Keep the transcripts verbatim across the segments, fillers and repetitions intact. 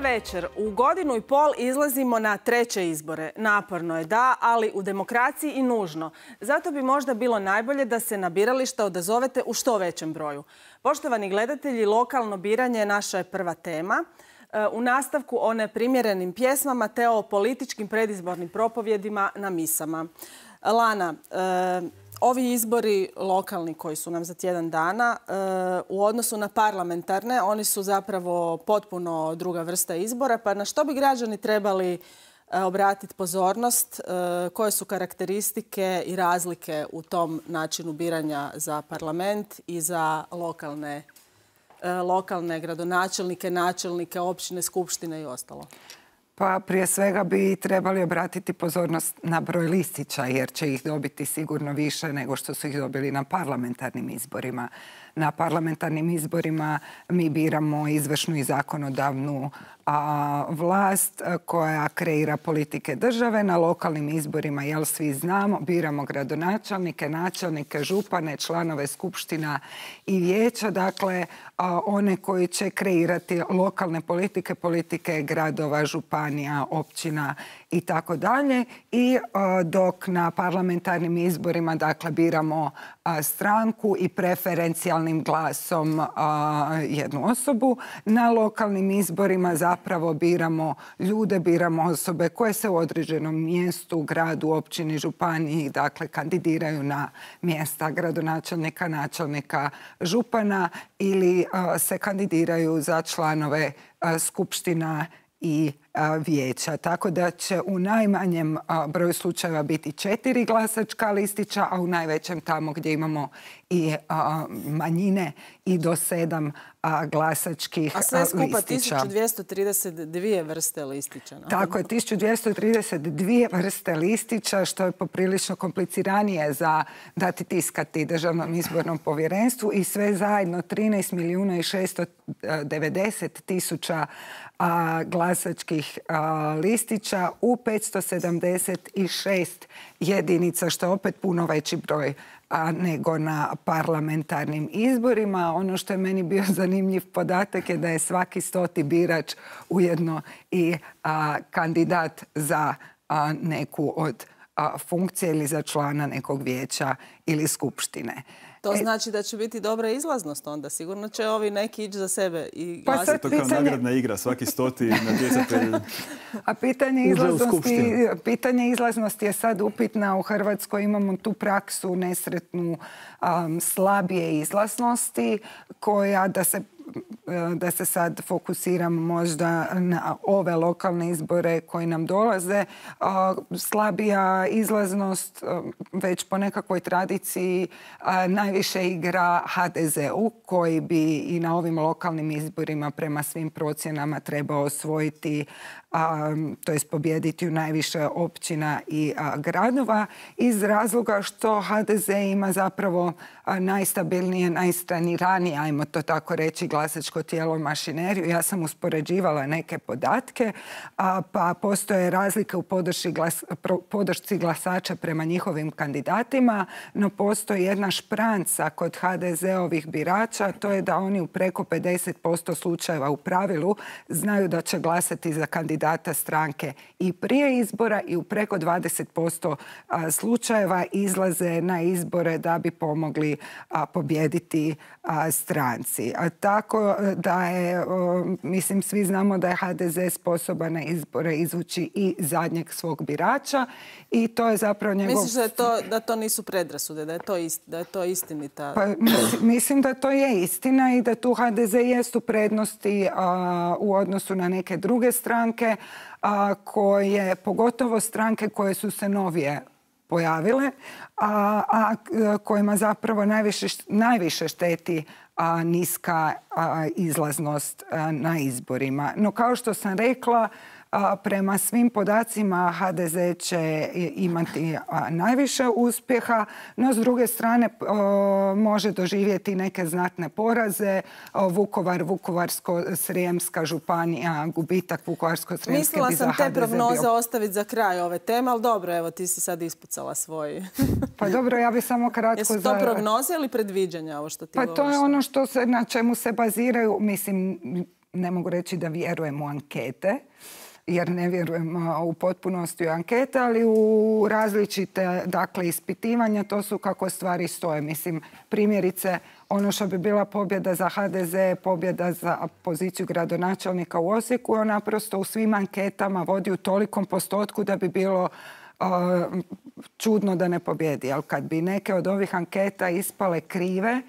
večer. U godinu i pol izlazimo na treće izbore. Naporno je, da, ali u demokraciji i nužno. Zato bi možda bilo najbolje da se na birališta odazovete u što većem broju. Poštovani gledatelji, lokalno biranje naša je prva tema. U nastavku o neprimjerenim pjesmama te o političkim predizbornim propovjedima na misama. Lana, ovi izbori lokalni koji su nam za tjedan dana u odnosu na parlamentarne, oni su zapravo potpuno druga vrsta izbora. Pa na što bi građani trebali obratiti pozornost? Koje su karakteristike i razlike u tom načinu biranja za parlament i za lokalne, lokalne gradonačelnike, načelnike, općine, skupštine i ostalo? Pa prije svega bi trebali obratiti pozornost na broj listića jer će ih dobiti sigurno više nego što su ih dobili na parlamentarnim izborima. Na parlamentarnim izborima mi biramo izvršnu i zakonodavnu a, vlast koja kreira politike države. Na lokalnim izborima, jel svi znamo, biramo gradonačelnike, načelnike, župane, članove skupština i vijeća. Dakle, a, one koji će kreirati lokalne politike, politike gradova, županija, općina i tako dalje. I a, dok na parlamentarnim izborima, dakle, biramo a, stranku i preferencijalnim glasom a, jednu osobu. Na lokalnim izborima zapravo biramo ljude, biramo osobe koje se u određenom mjestu, gradu, općini, županiji, dakle, kandidiraju na mjesta gradonačelnika, načelnika, župana ili a, se kandidiraju za članove a, skupština i vijeća. Tako da će u najmanjem broju slučajeva biti četiri glasačka listića, a u najvećem tamo gdje imamo i manjine i do sedam glasačkih listića. A sve skupa tisuću dvjesto trideset dvije vrste listića. No? Tako je, tisuću dvjesto trideset dvije vrste listića, što je poprilično kompliciranije za dati tiskati Državnom izbornom povjerenstvu i sve zajedno trinaest milijuna i šesto devedeset tisuća glasačkih listića u petsto sedamdeset šest jedinica, što je opet puno veći broj nego na parlamentarnim izborima. Ono što je meni bio zanimljiv podatak je da je svaki stoti birač ujedno i a, kandidat za a, neku od a, funkcija ili za člana nekog vijeća ili skupštine. To znači da će biti dobra izlaznost onda. Sigurno će ovi neki ići za sebe i glasiti. Pa to kao pitanje... nagradna igra, svaki stoti natjecatelj. A pitanje izlaznosti, pitanje izlaznosti je sad upitna. U Hrvatskoj imamo tu praksu nesretnu um, slabije izlaznosti koja da se da se sad fokusiram možda na ove lokalne izbore koji nam dolaze. Slabija izlaznost već po nekakvoj tradiciji najviše igra ha de ze u koji bi i na ovim lokalnim izborima prema svim procjenama trebao osvojiti, to jest pobijediti u najviše općina i gradova iz razloga što ha de ze ima zapravo najstabilnije, najstraniranije, ajmo to tako reći, glasačko tijelo mašineriju. Ja sam uspoređivala neke podatke, a, pa postoje razlike u podršci, glas, podršci glasača prema njihovim kandidatima, no postoji jedna špranca kod ha de ze ovih birača, to je da oni u preko pedeset posto slučajeva u pravilu znaju da će glasati za kandidata stranke i prije izbora i u preko dvadeset posto slučajeva izlaze na izbore da bi pomogli a, pobijediti a, stranci. A tako da je, o, mislim, svi znamo da je ha de ze sposoban na izbore izvući i zadnjeg svog birača i to je zapravo njegov... Misliš da, je to, da to nisu predrasude, da je to, ist, da je to istinita... Pa, mislim da to je istina i da tu ha de ze jest u prednosti a, u odnosu na neke druge stranke, a, koje, pogotovo stranke koje su se novije pojavile, a, a kojima zapravo najviše, najviše šteti a, niska a, izlaznost a, na izborima. No kao što sam rekla, a, prema svim podacima ha de ze će imati a, najviše uspjeha, no s druge strane a, može doživjeti neke znatne poraze. A, Vukovar, Vukovarsko-srijemska županija, gubitak Vukovarsko-srijemske Mislila bi za sam te ha de ze prognoze bio... ostaviti za kraj ove teme, ali dobro, evo ti si sad ispucala svoj. Pa dobro, ja bih samo kratko... Jesu to za... prognoze ili predviđanja, ovo što ti pa govoriš? To je ono što se, na čemu se baziraju, mislim, ne mogu reći da vjerujem u ankete, jer ne vjerujem u potpunosti u ankete, ali u različite, dakle, ispitivanja, to su kako stvari stoje. Mislim, primjerice, ono što bi bila pobjeda za ha de ze, pobjeda za poziciju gradonačelnika u Osijeku, on naprosto u svim anketama vodi u tolikom postotku da bi bilo uh, čudno da ne pobjedi. Ali kad bi neke od ovih anketa ispale krive,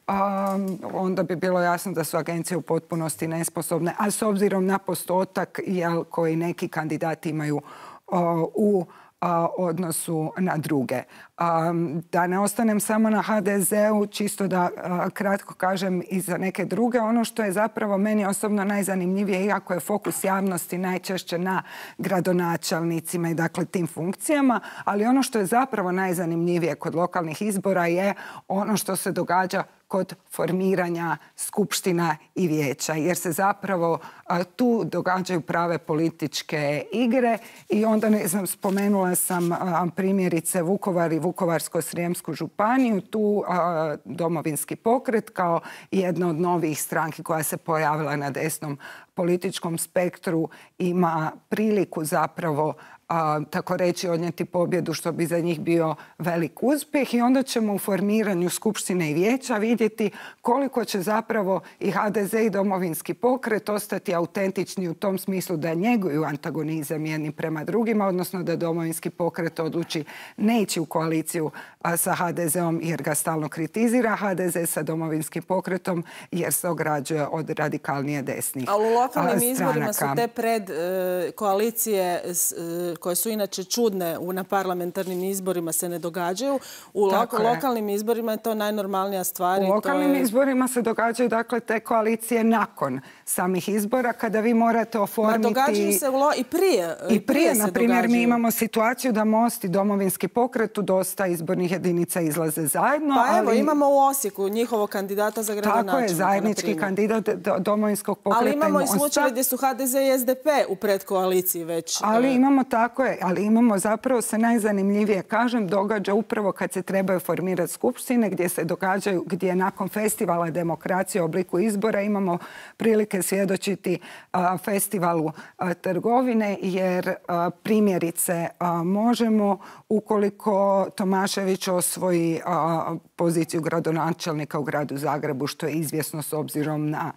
Um, onda bi bilo jasno da su agencije u potpunosti nesposobne, a s obzirom na postotak jel, koji neki kandidati imaju uh, u uh, odnosu na druge. Um, da ne ostanem samo na ha de zeu, čisto da uh, kratko kažem i za neke druge. Ono što je zapravo meni osobno najzanimljivije, iako je fokus javnosti najčešće na gradonačelnicima i dakle tim funkcijama, ali ono što je zapravo najzanimljivije kod lokalnih izbora je ono što se događa kod formiranja skupština i vijeća, jer se zapravo a, tu događaju prave političke igre i onda, ne znam, spomenula sam a, primjerice Vukovar i Vukovarsko-srijemsku županiju, tu a, Domovinski pokret kao jedna od novih stranki koja se pojavila na desnom političkom spektru ima priliku zapravo A, tako reći odnijeti pobjedu, što bi za njih bio velik uspjeh, i onda ćemo u formiranju skupštine i vijeća vidjeti koliko će zapravo i ha de ze i Domovinski pokret ostati autentični u tom smislu da njeguju antagonizam jedni prema drugima, odnosno da Domovinski pokret odluči ne ići u koaliciju a, sa ha de zeom jer ga stalno kritizira, ha de ze sa Domovinskim pokretom jer se ograđuje od radikalnije desnih stranaka. Ali u lokalnim a, izborima su te pred e, koalicije s, e, koje su inače čudne na parlamentarnim izborima se ne događaju. U loko, lokalnim izborima je to najnormalnija stvar. U lokalnim je... izborima se događaju dakle te koalicije nakon samih izbora kada vi morate oformiti... Ma događaju se lo... i prije. I, I prije, prije na primjer, mi imamo situaciju da Most i Domovinski pokret u dosta izbornih jedinica izlaze zajedno. Pa evo, ali... imamo u Osijeku njihovog kandidata za gradonačelnika. Tako je, zajednički kandidat Domovinskog pokreta. Ali imamo i slučaje gdje su ha de ze i es de pe u predkoaliciji već. Ali imamo tako je, ali imamo zapravo se najzanimljivije, kažem, događa upravo kad se trebaju formirati skupštine, gdje se događaju, gdje nakon festivala demokracije u obliku izbora imamo prilike svjedočiti a, festivalu a, trgovine, jer a, primjerice a, možemo, ukoliko Tomašević osvoji a, poziciju gradonačelnika u gradu Zagrebu, što je izvjesno s obzirom na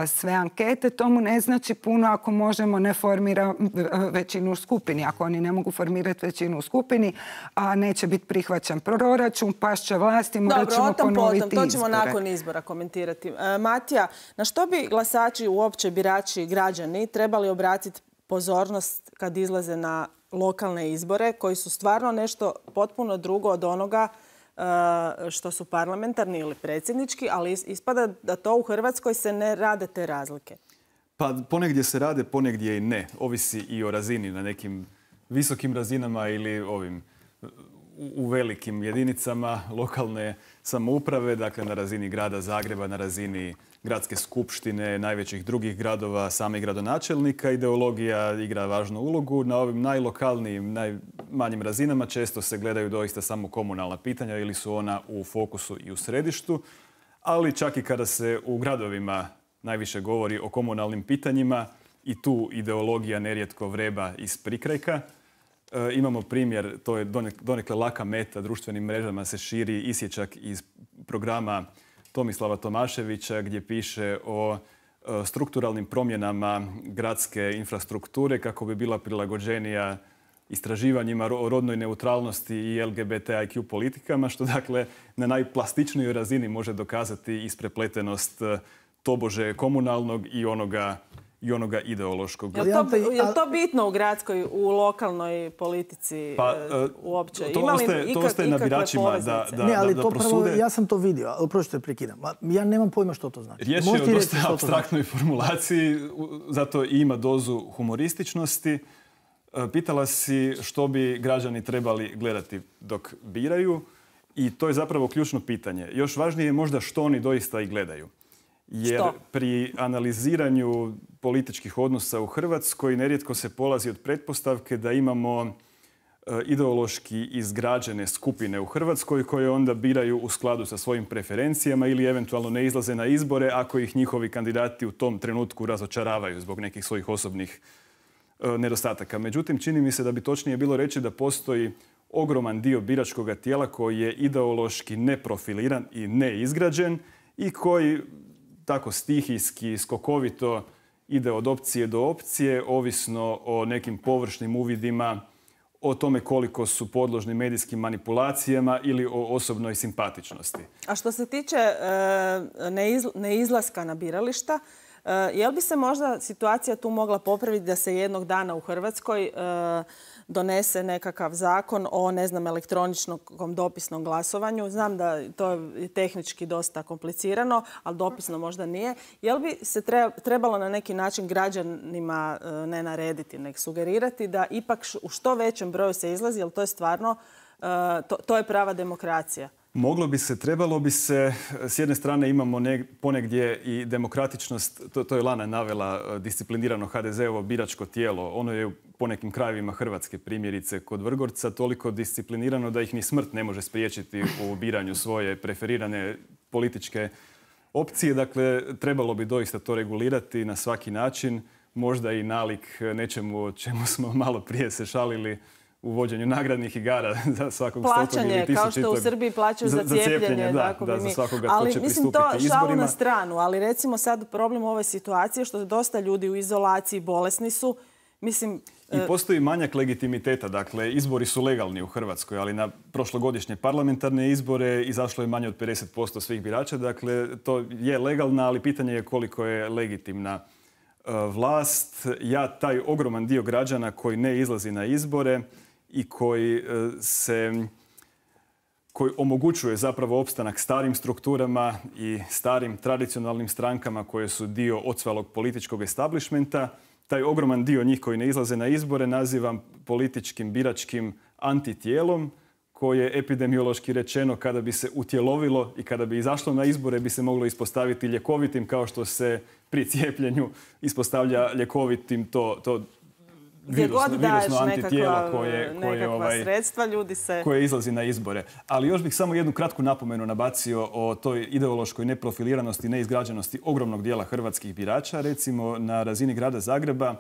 sve ankete, tomu ne znači puno ako možemo ne formira većinu u skupini. Ako oni ne mogu formirati većinu u skupini, a neće biti prihvaćen proračun, pašće vlasti, morat ćemo ponoviti izbore. To ćemo nakon izbora komentirati. E, Matija, na što bi glasači, uopće birači, građani trebali obratiti pozornost kad izlaze na lokalne izbore, koji su stvarno nešto potpuno drugo od onoga što su parlamentarni ili predsjednički, ali ispada da to u Hrvatskoj se ne rade te razlike. Pa ponegdje se rade, ponegdje i ne. Ovisi i o razini, na nekim visokim razinama ili ovim u velikim jedinicama lokalne samouprave, dakle na razini grada Zagreba, na razini gradske skupštine, najvećih drugih gradova, samih gradonačelnika. Ideologija igra važnu ulogu. Na ovim najlokalnijim, najmanjim razinama često se gledaju doista samo komunalna pitanja ili su ona u fokusu i u središtu. Ali čak i kada se u gradovima najviše govori o komunalnim pitanjima i tu ideologija nerijetko vreba iz prikrajka. E, imamo primjer, to je donekle laka meta, društvenim mrežama se širi isječak iz programa Tomislava Tomaševića gdje piše o e, strukturalnim promjenama gradske infrastrukture kako bi bila prilagođenija istraživanjima o rodnoj neutralnosti i el ge be te i kju politikama, što dakle na najplastičnijoj razini može dokazati isprepletenost tobože komunalnog i onoga i onoga ideološkog. Je li to, je li to bitno u gradskoj, u lokalnoj politici pa, uopće? To, Ima li ostaje, to ostaje na biračima da, da, ne, ali da, to da prosude. Prvo, ja sam to vidio, ali prošlo prekidam. Ja nemam pojma što to znači. Riječ je o dosta apstraktnoj formulaciji, zato i ima dozu humorističnosti. Pitala si što bi građani trebali gledati dok biraju i to je zapravo ključno pitanje. Još važnije je možda što oni doista i gledaju. Jer što? Pri analiziranju političkih odnosa u Hrvatskoj nerijetko se polazi od pretpostavke da imamo ideološki izgrađene skupine u Hrvatskoj koje onda biraju u skladu sa svojim preferencijama ili eventualno ne izlaze na izbore ako ih njihovi kandidati u tom trenutku razočaravaju zbog nekih svojih osobnih nedostataka. Međutim, čini mi se da bi točnije bilo reći da postoji ogroman dio biračkog tijela koji je ideološki neprofiliran i neizgrađen i koji tako stihijski, skokovito ide od opcije do opcije, ovisno o nekim površnim uvidima, o tome koliko su podložni medijskim manipulacijama ili o osobnoj simpatičnosti. A što se tiče neizlaska na birališta, je li bi se možda situacija tu mogla popraviti da se jednog dana u Hrvatskoj donese nekakav zakon o, ne znam, elektroničnom dopisnom glasovanju? Znam da to je tehnički dosta komplicirano, ali dopisno možda nije. Je li bi se trebalo na neki način građanima ne narediti, nek sugerirati da ipak u što većem broju se izlazi, jer to je stvarno, to, to je prava demokracija? Moglo bi se, trebalo bi se. S jedne strane imamo ne, ponegdje i demokratičnost, to, to je Lana navela, disciplinirano ha de ze-ovo biračko tijelo. Ono je u ponekim krajevima Hrvatske, primjerice kod Vrgorca, toliko disciplinirano da ih ni smrt ne može spriječiti u biranju svoje preferirane političke opcije. Dakle, trebalo bi doista to regulirati na svaki način. Možda i nalik nečemu o čemu smo malo prije se šalili, u vođenju nagradnih igara za svakog stotog ili tisućitog. Kao što u Srbiji plaćaju za, za cijepljenje. Da, da, za svakoga ali, ko će mislim, pristupiti izborima. To šalu na stranu, ali recimo sad problem ove situacije što dosta ljudi u izolaciji, bolesni su. Mislim, I postoji manjak legitimiteta. Dakle, izbori su legalni u Hrvatskoj, ali na prošlogodišnje parlamentarne izbore izašlo je manje od pedeset posto svih birača. Dakle, to je legalna, ali pitanje je koliko je legitimna vlast. Ja taj ogroman dio građana koji ne izlazi na izbore i koji se koji omogućuje zapravo opstanak starim strukturama i starim tradicionalnim strankama koje su dio ocvalog političkog establishmenta. Taj ogroman dio njih koji ne izlaze na izbore nazivam političkim biračkim antitijelom koje epidemiološki rečeno kada bi se utjelovilo i kada bi izašlo na izbore bi se moglo ispostaviti ljekovitim kao što se pri cijepljenju ispostavlja ljekovitim to, to virusno, virusno antitijelo koje, koje, ovaj, sredstva, ljudi se... koje izlazi na izbore. Ali još bih samo jednu kratku napomenu nabacio o toj ideološkoj neprofiliranosti, neizgrađenosti ogromnog dijela hrvatskih birača. Recimo na razini grada Zagreba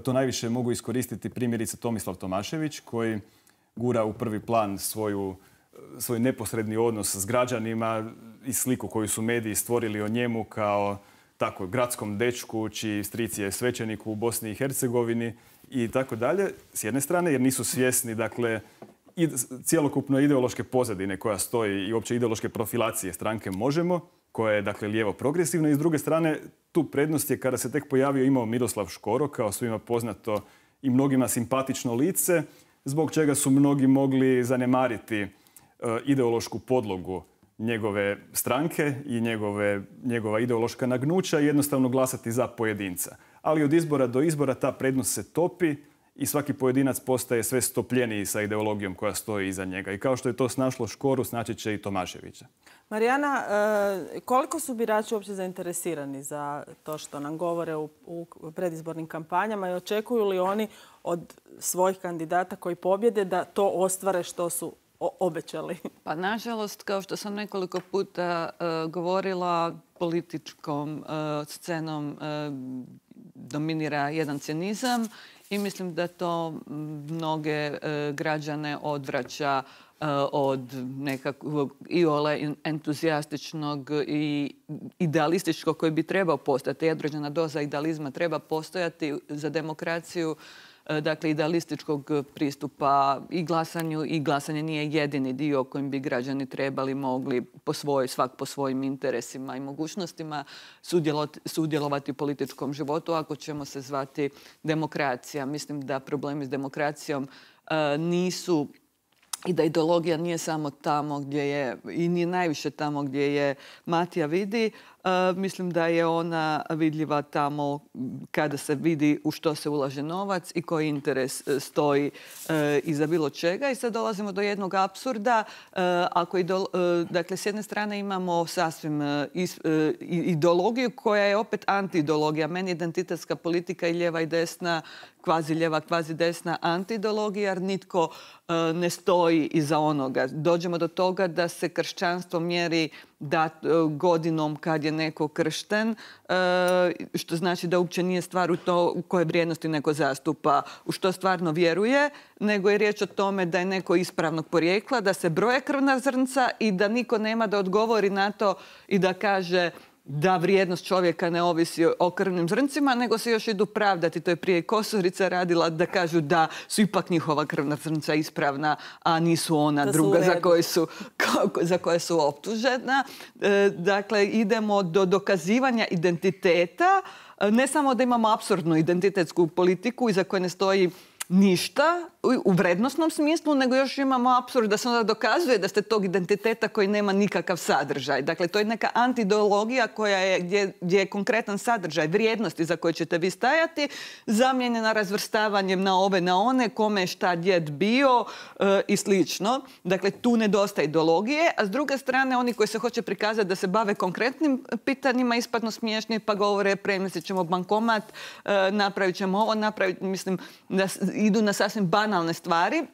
to najviše mogu iskoristiti primjerice Tomislav Tomašević koji gura u prvi plan svoju, svoj neposredni odnos s građanima i sliku koju su mediji stvorili o njemu kao tako gradskom dečku čiji stric je svećenik u Bosni i Hercegovini i tako dalje, s jedne strane, jer nisu svjesni, dakle, i cjelokupno ideološke pozadine koja stoji i uopće ideološke profilacije stranke Možemo, koja je, dakle, lijevo progresivna. I s druge strane, tu prednost je kada se tek pojavio imao Miroslav Škoro, kao svima poznato i mnogima simpatično lice, zbog čega su mnogi mogli zanemariti uh, ideološku podlogu njegove stranke i njegove, njegova ideološka nagnuća i jednostavno glasati za pojedinca. Ali od izbora do izbora ta prednost se topi i svaki pojedinac postaje sve stopljeniji sa ideologijom koja stoji iza njega. I kao što je to snašlo Škoru, snaći će i Tomaševića. Marijana, koliko su birači uopće zainteresirani za to što nam govore u, u predizbornim kampanjama i očekuju li oni od svojih kandidata koji pobjede da to ostvare što su obećali? Pa nažalost, kao što sam nekoliko puta uh, govorila, političkom uh, scenom uh, dominira jedan cinizam i mislim da to mnoge uh, građane odvraća uh, od nekakvog iole entuzijastičnog i idealističkog koji bi trebao postati. Određena doza idealizma treba postojati za demokraciju. Dakle, idealističkog pristupa i glasanju i glasanje nije jedini dio kojim bi građani trebali mogli po svoj, svak po svojim interesima i mogućnostima sudjelovati, sudjelovati u političkom životu ako ćemo se zvati demokracija. Mislim da problemi s demokracijom uh, nisu i da ideologija nije samo tamo gdje je, i nije najviše tamo gdje je Matija vidi. Uh, mislim da je ona vidljiva tamo kada se vidi u što se ulaže novac i koji interes uh, stoji uh, iza bilo čega. I sad dolazimo do jednog apsurda. Uh, ako idol, uh, dakle, s jedne strane imamo sasvim uh, is, uh, ideologiju koja je opet anti-ideologija. Meni identitetska politika i lijeva i desna kvazi ljeva, kvazi desna antiideologija, jer nitko ne stoji iza onoga. Dođemo do toga da se kršćanstvo mjeri da godinom kad je neko kršten, što znači da uopće nije stvar u to u koje vrijednosti neko zastupa, u što stvarno vjeruje, nego je riječ o tome da je neko ispravnog porijekla, da se broje krvna zrnca i da niko nema da odgovori na to i da kaže da vrijednost čovjeka ne ovisi o krvnim zrncima, nego se još idu pravdati. To je prije Kosorica radila, da kažu da su ipak njihova krvna zrnca ispravna, a nisu ona da druga za koje su, za koje su optužena. E, dakle, idemo do dokazivanja identiteta. Ne samo da imamo apsurdnu identitetsku politiku iza koje ne stoji ništa u vrednosnom smislu, nego još imamo apsurd da se onda dokazuje da ste tog identiteta koji nema nikakav sadržaj. Dakle, to je neka antiideologija koja je, gdje, gdje je konkretan sadržaj vrijednosti za koje ćete vi stajati, zamijenjena razvrstavanjem na ove, na one, kome je šta djed bio e, i slično. Dakle, tu nedostaje ideologije, a s druge strane oni koji se hoće prikazati da se bave konkretnim pitanjima ispadno smiješni pa govore premjestit ćemo bankomat, e, napravit ćemo ovo, napravit, mislim, da idu na sasvim banalne stvari.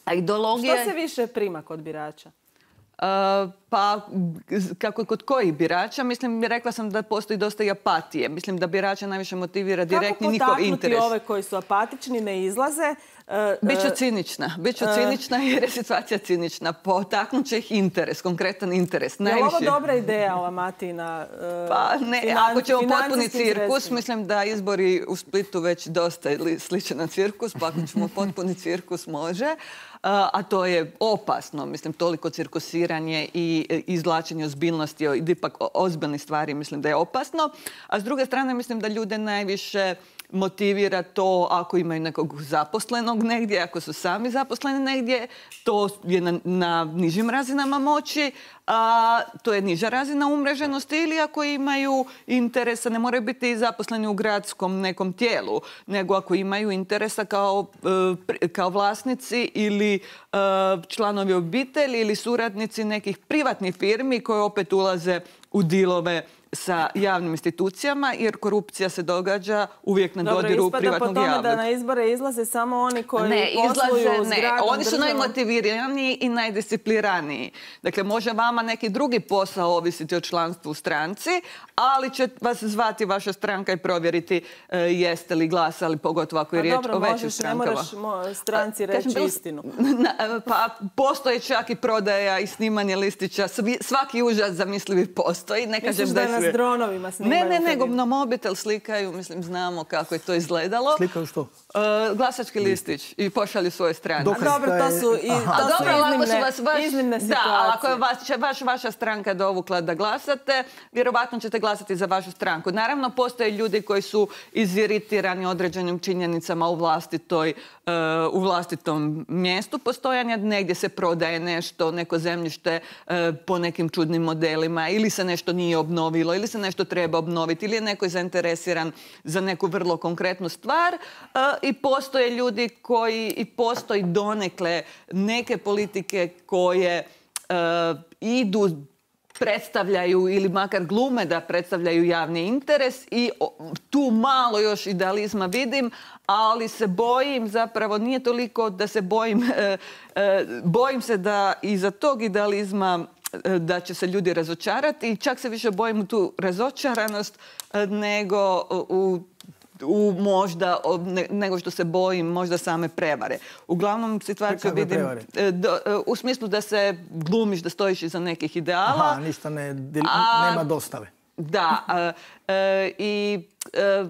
A ideologija... Što se više prima kod birača? Uh, pa, kako kod kojih birača? Mislim, rekla sam da postoji dosta i apatije. Mislim da birača najviše motivira direktni njihov interes. Kako potaknuti ove koji su apatični, ne izlaze? Uh, Biću cinična. Biću uh, cinična jer je situacija cinična. Potaknut će ih interes, konkretan interes. Je li ovo dobra ideja, ova Matina? Uh, pa ne, finan, ako ćemo potpuni cirkus, sredstvima. Mislim da izbori u Splitu već dosta sliče na cirkus, pa ako ćemo potpuni cirkus može. A to je opasno, mislim, toliko cirkusiranje i izvlačenje ozbiljnosti i ipak ozbiljnih stvari, mislim da je opasno. A s druge strane, mislim da ljude najviše motivira to ako imaju nekog zaposlenog negdje, ako su sami zaposleni negdje, to je na, na nižim razinama moći, a to je niža razina umreženosti, ili ako imaju interesa, ne moraju biti zaposleni u gradskom nekom tijelu, nego ako imaju interesa kao, kao vlasnici ili članovi obitelji ili suradnici nekih privatnih firmi koje opet ulaze u dilove sa javnim institucijama, jer korupcija se događa uvijek na Dobro, dodiru privatnog po javnog. tome da na izbore izlaze samo oni koji ne, posluju izlaze, s ne. gradom, Oni su državom. najmotiviraniji i najdiscipliraniji. Dakle, može vama neki drugi posao ovisiti o članstvu u stranci, ali će vas zvati vaša stranka i provjeriti e, jeste li glasali, pogotovo ako je riječ dobro, o većim možeš, strankama. Ne moraš stranci reći Kažem, istinu. Na, pa postoji čak i prodaja i snimanje listića. Svaki užas zamislivi postoji. Ne kažem Misliš da je s dronovima snimaju? Ne, ne, nego na mobitel slikaju, mislim, znamo kako je to izgledalo. Slikaju što? Uh, glasački listić i pošalju svoje strane. A dobro, to su, i, to su dobro, iznimne, vas vaš, iznimne situacije. Da, ako je vas, vaš, vaša stranka dovukla da glasate, vjerovatno ćete glasati za vašu stranku. Naravno, postoje ljudi koji su iziritirani određenim činjenicama u vlastitoj, uh, u vlastitom mjestu postojanja. Negdje se prodaje nešto, neko zemljište uh, po nekim čudnim modelima, ili se nešto nije obnovilo, ili se nešto treba obnoviti, ili je neko zainteresiran za neku vrlo konkretnu stvar. Uh, I postoje ljudi koji, i postoji donekle neke politike koje uh, idu, predstavljaju ili makar glume da predstavljaju javni interes i tu malo još idealizma vidim, ali se bojim, zapravo nije toliko da se bojim, uh, uh, bojim se da iza tog idealizma da će se ljudi razočarati i čak se više bojim u tu razočaranost nego u u možda, nego što se bojim možda same prevare. Uglavnom situaciju vidim do, u smislu da se glumiš, da stojiš iza nekih ideala. Aha, ništa ne, a, nema dostave. Da, a, a, i a,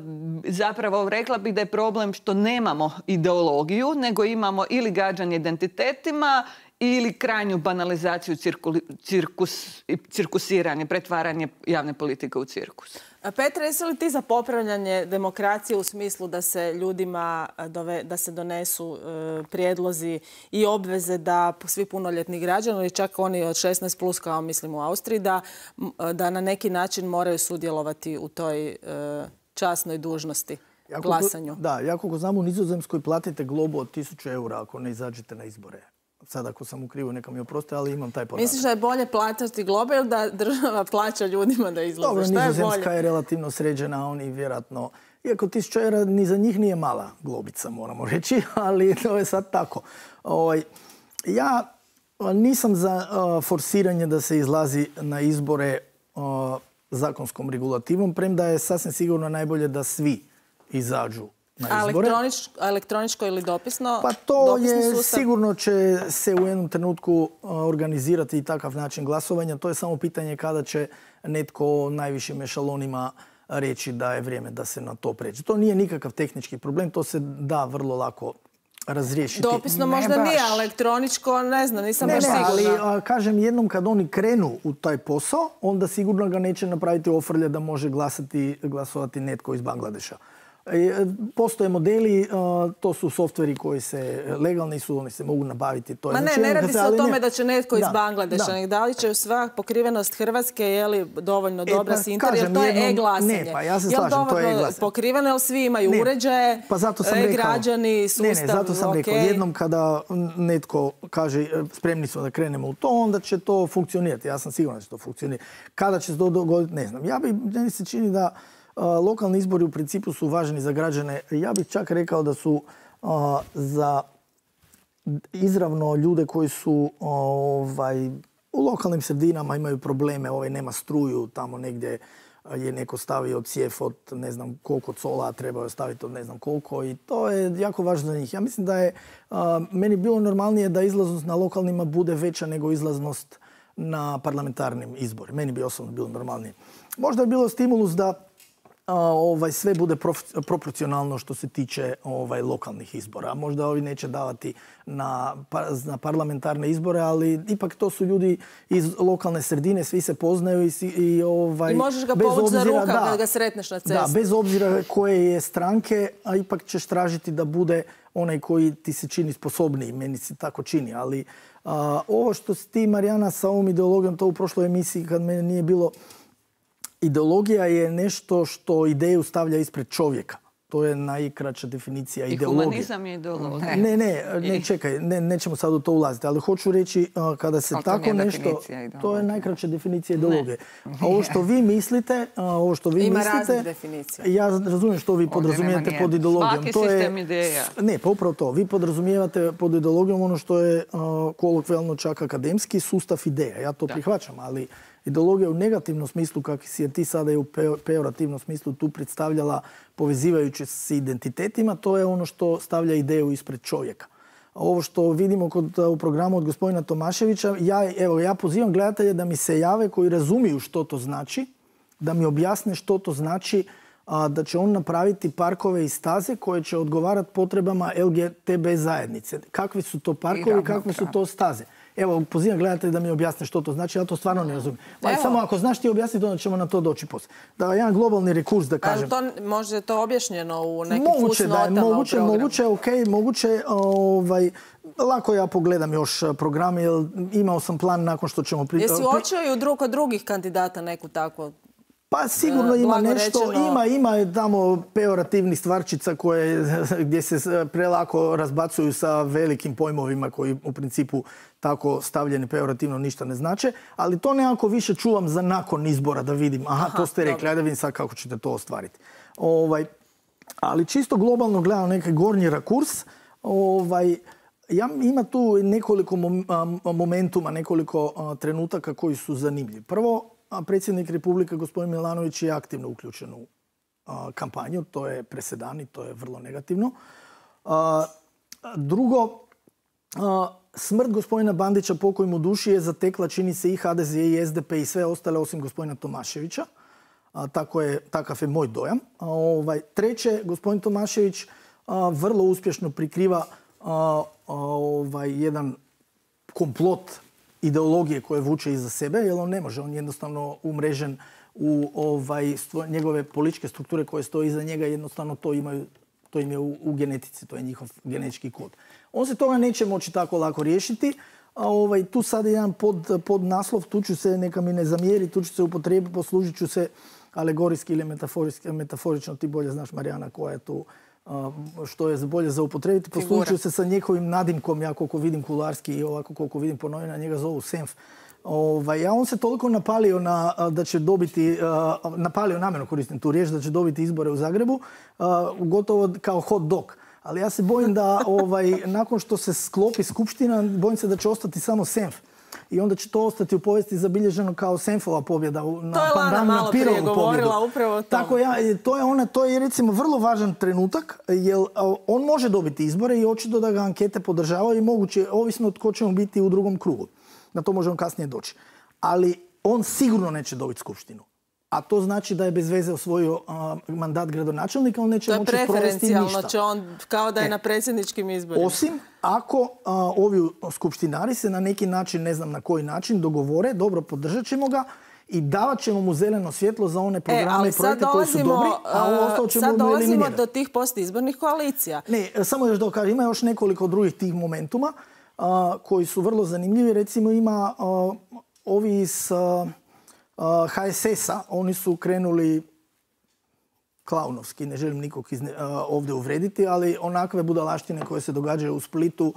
zapravo rekla bih da je problem što nemamo ideologiju, nego imamo ili gađanje identitetima ili krajnju banalizaciju, cirkuli, cirkus, cirkusiranje, pretvaranje javne politike u cirkus. Petra, jesi li ti za popravljanje demokracije u smislu da se ljudima dove, da se donesu e, prijedlozi i obveze da svi punoljetni građani, ili čak oni od šesnaest plus kao mislim u Austriji, da, da na neki način moraju sudjelovati u toj e, časnoj dužnosti, jako, glasanju? Da, ja koliko znam u Nizozemskoj platite globu od tisuću eura ako ne izađete na izbore. Sad ako sam u krivu, neka mi oproste, ali imam taj podatak. Misliš da je bolje platiti globe ili da država plaća ljudima da izlaze? Dobro, šta je Nizozemska bolje? je relativno sređena, oni vjerojatno Iako tisuća eura ni za njih nije mala globica, moramo reći, ali to je sad tako. Ovaj, ja nisam za uh, forsiranje da se izlazi na izbore uh, zakonskom regulativom, premda je sasvim sigurno najbolje da svi izađu na izbore. Elektronič, elektroničko ili dopisno? Pa to je sustav? Sigurno će se u jednom trenutku uh, organizirati i takav način glasovanja. To je samo pitanje kada će netko o najvišim ešalonima reći da je vrijeme da se na to pređe. To nije nikakav tehnički problem, to se da vrlo lako razriješiti. Dopisno možda baš. nije, elektroničko ne znam, nisam Ne, baš ne, ali sigurna. a, kažem, jednom kad oni krenu u taj posao, onda sigurno ga neće napraviti ofrlja da može glasati, glasovati netko iz Bangladeša. E, Postoje modeli, a, to su softveri koji se legalni su, oni se mogu nabaviti. To je, Ma ne, znači, ne jednom radi kad se o ali tome ne- da će netko iz Da, Bangladeša. da. nego Da li će sva pokrivenost Hrvatske, je li dovoljno E, dobra pa s internetom, kažem, jer to je jednom- e-glasanje. ne, pa ja se Je li slažem, to je dovoljno e-glasanje. pokriveno, jer svi imaju Ne, uređaje, pa zato sam rekao, e-građani, sustav, ne, ne, zato sam rekao, okej. jednom kada netko kaže e, spremni smo da krenemo u to, onda će to funkcionirati. Ja sam siguran da će to funkcionirati. Kada će se to dogoditi, ne znam. Ja bi, meni se čini da a, lokalni izbori u principu su važni za građane. Ja bih čak rekao da su a, za izravno ljude koji su ovaj, u lokalnim sredinama imaju probleme, ovaj nema struju, tamo negdje je neko stavio cijef od ne znam koliko cola, a trebao je staviti od ne znam koliko i to je jako važno za njih. Ja mislim da je a, meni bilo normalnije da izlaznost na lokalnima bude veća nego izlaznost na parlamentarnim izborima. Meni bi osobno bilo normalnije. Možda je bilo stimulus da a, ovaj, sve bude prof- proporcionalno što se tiče ovaj, lokalnih izbora. Možda ovi neće davati na, pa- na parlamentarne izbore, ali ipak to su ljudi iz lokalne sredine, svi se poznaju i, si- i, ovaj, I možeš ga bez povući za obzira- rukav da, kad ga sretneš na cesti. Da, bez obzira koje je stranke, a ipak ćeš tražiti da bude onaj koji ti se čini sposobniji. Meni se tako čini, ali a, ovo što si ti, Marijana, sa ovom ideologijom, to u prošloj emisiji kad mene nije bilo, ideologija je nešto što ideju stavlja ispred čovjeka. To je najkraća definicija I ideologije. humanizam je ideologija. Ne, ne, ne, čekaj, ne, nećemo sad u to ulaziti, ali hoću reći a, kada se Ali to tako nije nešto... definicija To je ideologije. najkraća definicija ideologije. A ovo što vi mislite, a, ovo što vi Ima mislite... raznih definicija. Ja razumijem što vi podrazumijevate nema pod nijedne. ideologijom. Svaki To je- sistem ideja. Ne, pa upravo to. Vi podrazumijevate pod ideologijom ono što je a, kolokvijalno čak akademski sustav ideja. Ja to prihvaćam, ali ideologija u negativnom smislu, kako si je ti sada i u pe- pejorativnom smislu tu predstavljala povezivajući s identitetima, to je ono što stavlja ideju ispred čovjeka. A ovo što vidimo kod, u programu od gospodina Tomaševića, ja, evo, ja pozivam gledatelje da mi se jave koji razumiju što to znači, da mi objasne što to znači a, da će on napraviti parkove i staze koje će odgovarati potrebama L G T B zajednice. Kakvi su to parkovi, kakve su to staze? Evo, pozivam gledatelje da mi objasne što to znači, ja to stvarno ne razumijem. Pa Evo. samo ako znaš ti objasniti, onda ćemo na to doći poslije. Da, jedan globalni rekurs da kažem. Ali to, možda je to objašnjeno u nekim Moguće da je, fusnotama u moguće, programu. moguće, ok, moguće, ovaj, lako ja pogledam još programe, jer imao sam plan nakon što ćemo... Pri... Jesi uočio i u drug od drugih kandidata neku takvu? Pa sigurno E, ima blago nešto, rečeno- ima, ima tamo pejorativnih stvarčica koje, gdje se prelako razbacuju sa velikim pojmovima koji u principu tako stavljeni pejorativno ništa ne znače, ali to nekako više čuvam za nakon izbora da vidim, aha, Aha, to ste rekli, dobro. ajde da vidim sad kako ćete to ostvariti. Ovaj, ali čisto globalno gledam neki gornji rakurs, ovaj, ja, ima tu nekoliko mom- a, momentuma, nekoliko a, trenutaka koji su zanimljivi. Prvo, a predsjednik Republike, gospodin Milanović, je aktivno uključen u a, kampanju. To je presedan i to je vrlo negativno. A, drugo, a, smrt gospodina Bandića, pokoj mu duši, je zatekla, čini se, i H D Z i S D P i sve ostale osim gospodina Tomaševića. A, tako je, takav je moj dojam. A, ovaj, treće, gospodin Tomašević a, vrlo uspješno prikriva a, a, ovaj, jedan komplot ideologije koje vuče iza sebe, jer on ne može, on jednostavno umrežen u ovaj, stvo- njegove političke strukture koje stoje iza njega, jednostavno to imaju, to im je u, u genetici, to je njihov genetički kod. On se toga neće moći tako lako riješiti, a ovaj, tu sad je jedan pod, pod naslov, tu ću se, neka mi ne zamjeri, tu ću se upotrijebiti, poslužit ću se alegorijski ili metaforijski, metaforično, ti bolje znaš, Marijana, koja je tu što je bolje za upotrebiti. Poslučuju se sa njegovim nadimkom, ja koliko vidim kularski i ovako koliko vidim po novinama, njega zovu Senf. Ovaj, a on se toliko napalio na, da će dobiti, uh, napalio namjerno koristim tu riječ, da će dobiti izbore u Zagrebu, uh, gotovo kao hot dog. Ali ja se bojim da ovaj, nakon što se sklopi skupština, bojim se da će ostati samo Senf. I onda će to ostati u povijesti zabilježeno kao Senfova pobjeda na to je Lana malo prije govorila upravo o Tako ja, to je ona, to je recimo vrlo važan trenutak, jer on može dobiti izbore i očito da ga ankete podržavaju i moguće, ovisno od ko će on biti u drugom krugu. Na to možemo kasnije doći. Ali on sigurno neće dobiti skupštinu. A to znači da je bez veze osvojio uh, mandat gradonačelnika, on neće moći provesti ništa. To je preferencijalno, će on kao da je e, na predsjedničkim izborima. Osim ako uh, ovi skupštinari se na neki način, ne znam na koji način, dogovore, dobro, podržat ćemo ga i davat ćemo mu zeleno svjetlo za one programe e, i projekte koji su dobri, a ovo ostalo ćemo sad dolazimo do tih postizbornih koalicija. Ne, samo još da kažem, ima još nekoliko drugih tih momentuma uh, koji su vrlo zanimljivi. Recimo ima uh, ovi iz uh, H S S-a, oni su krenuli klaunovski, ne želim nikog izne, ovdje uvrediti, ali onakve budalaštine koje se događaju u Splitu,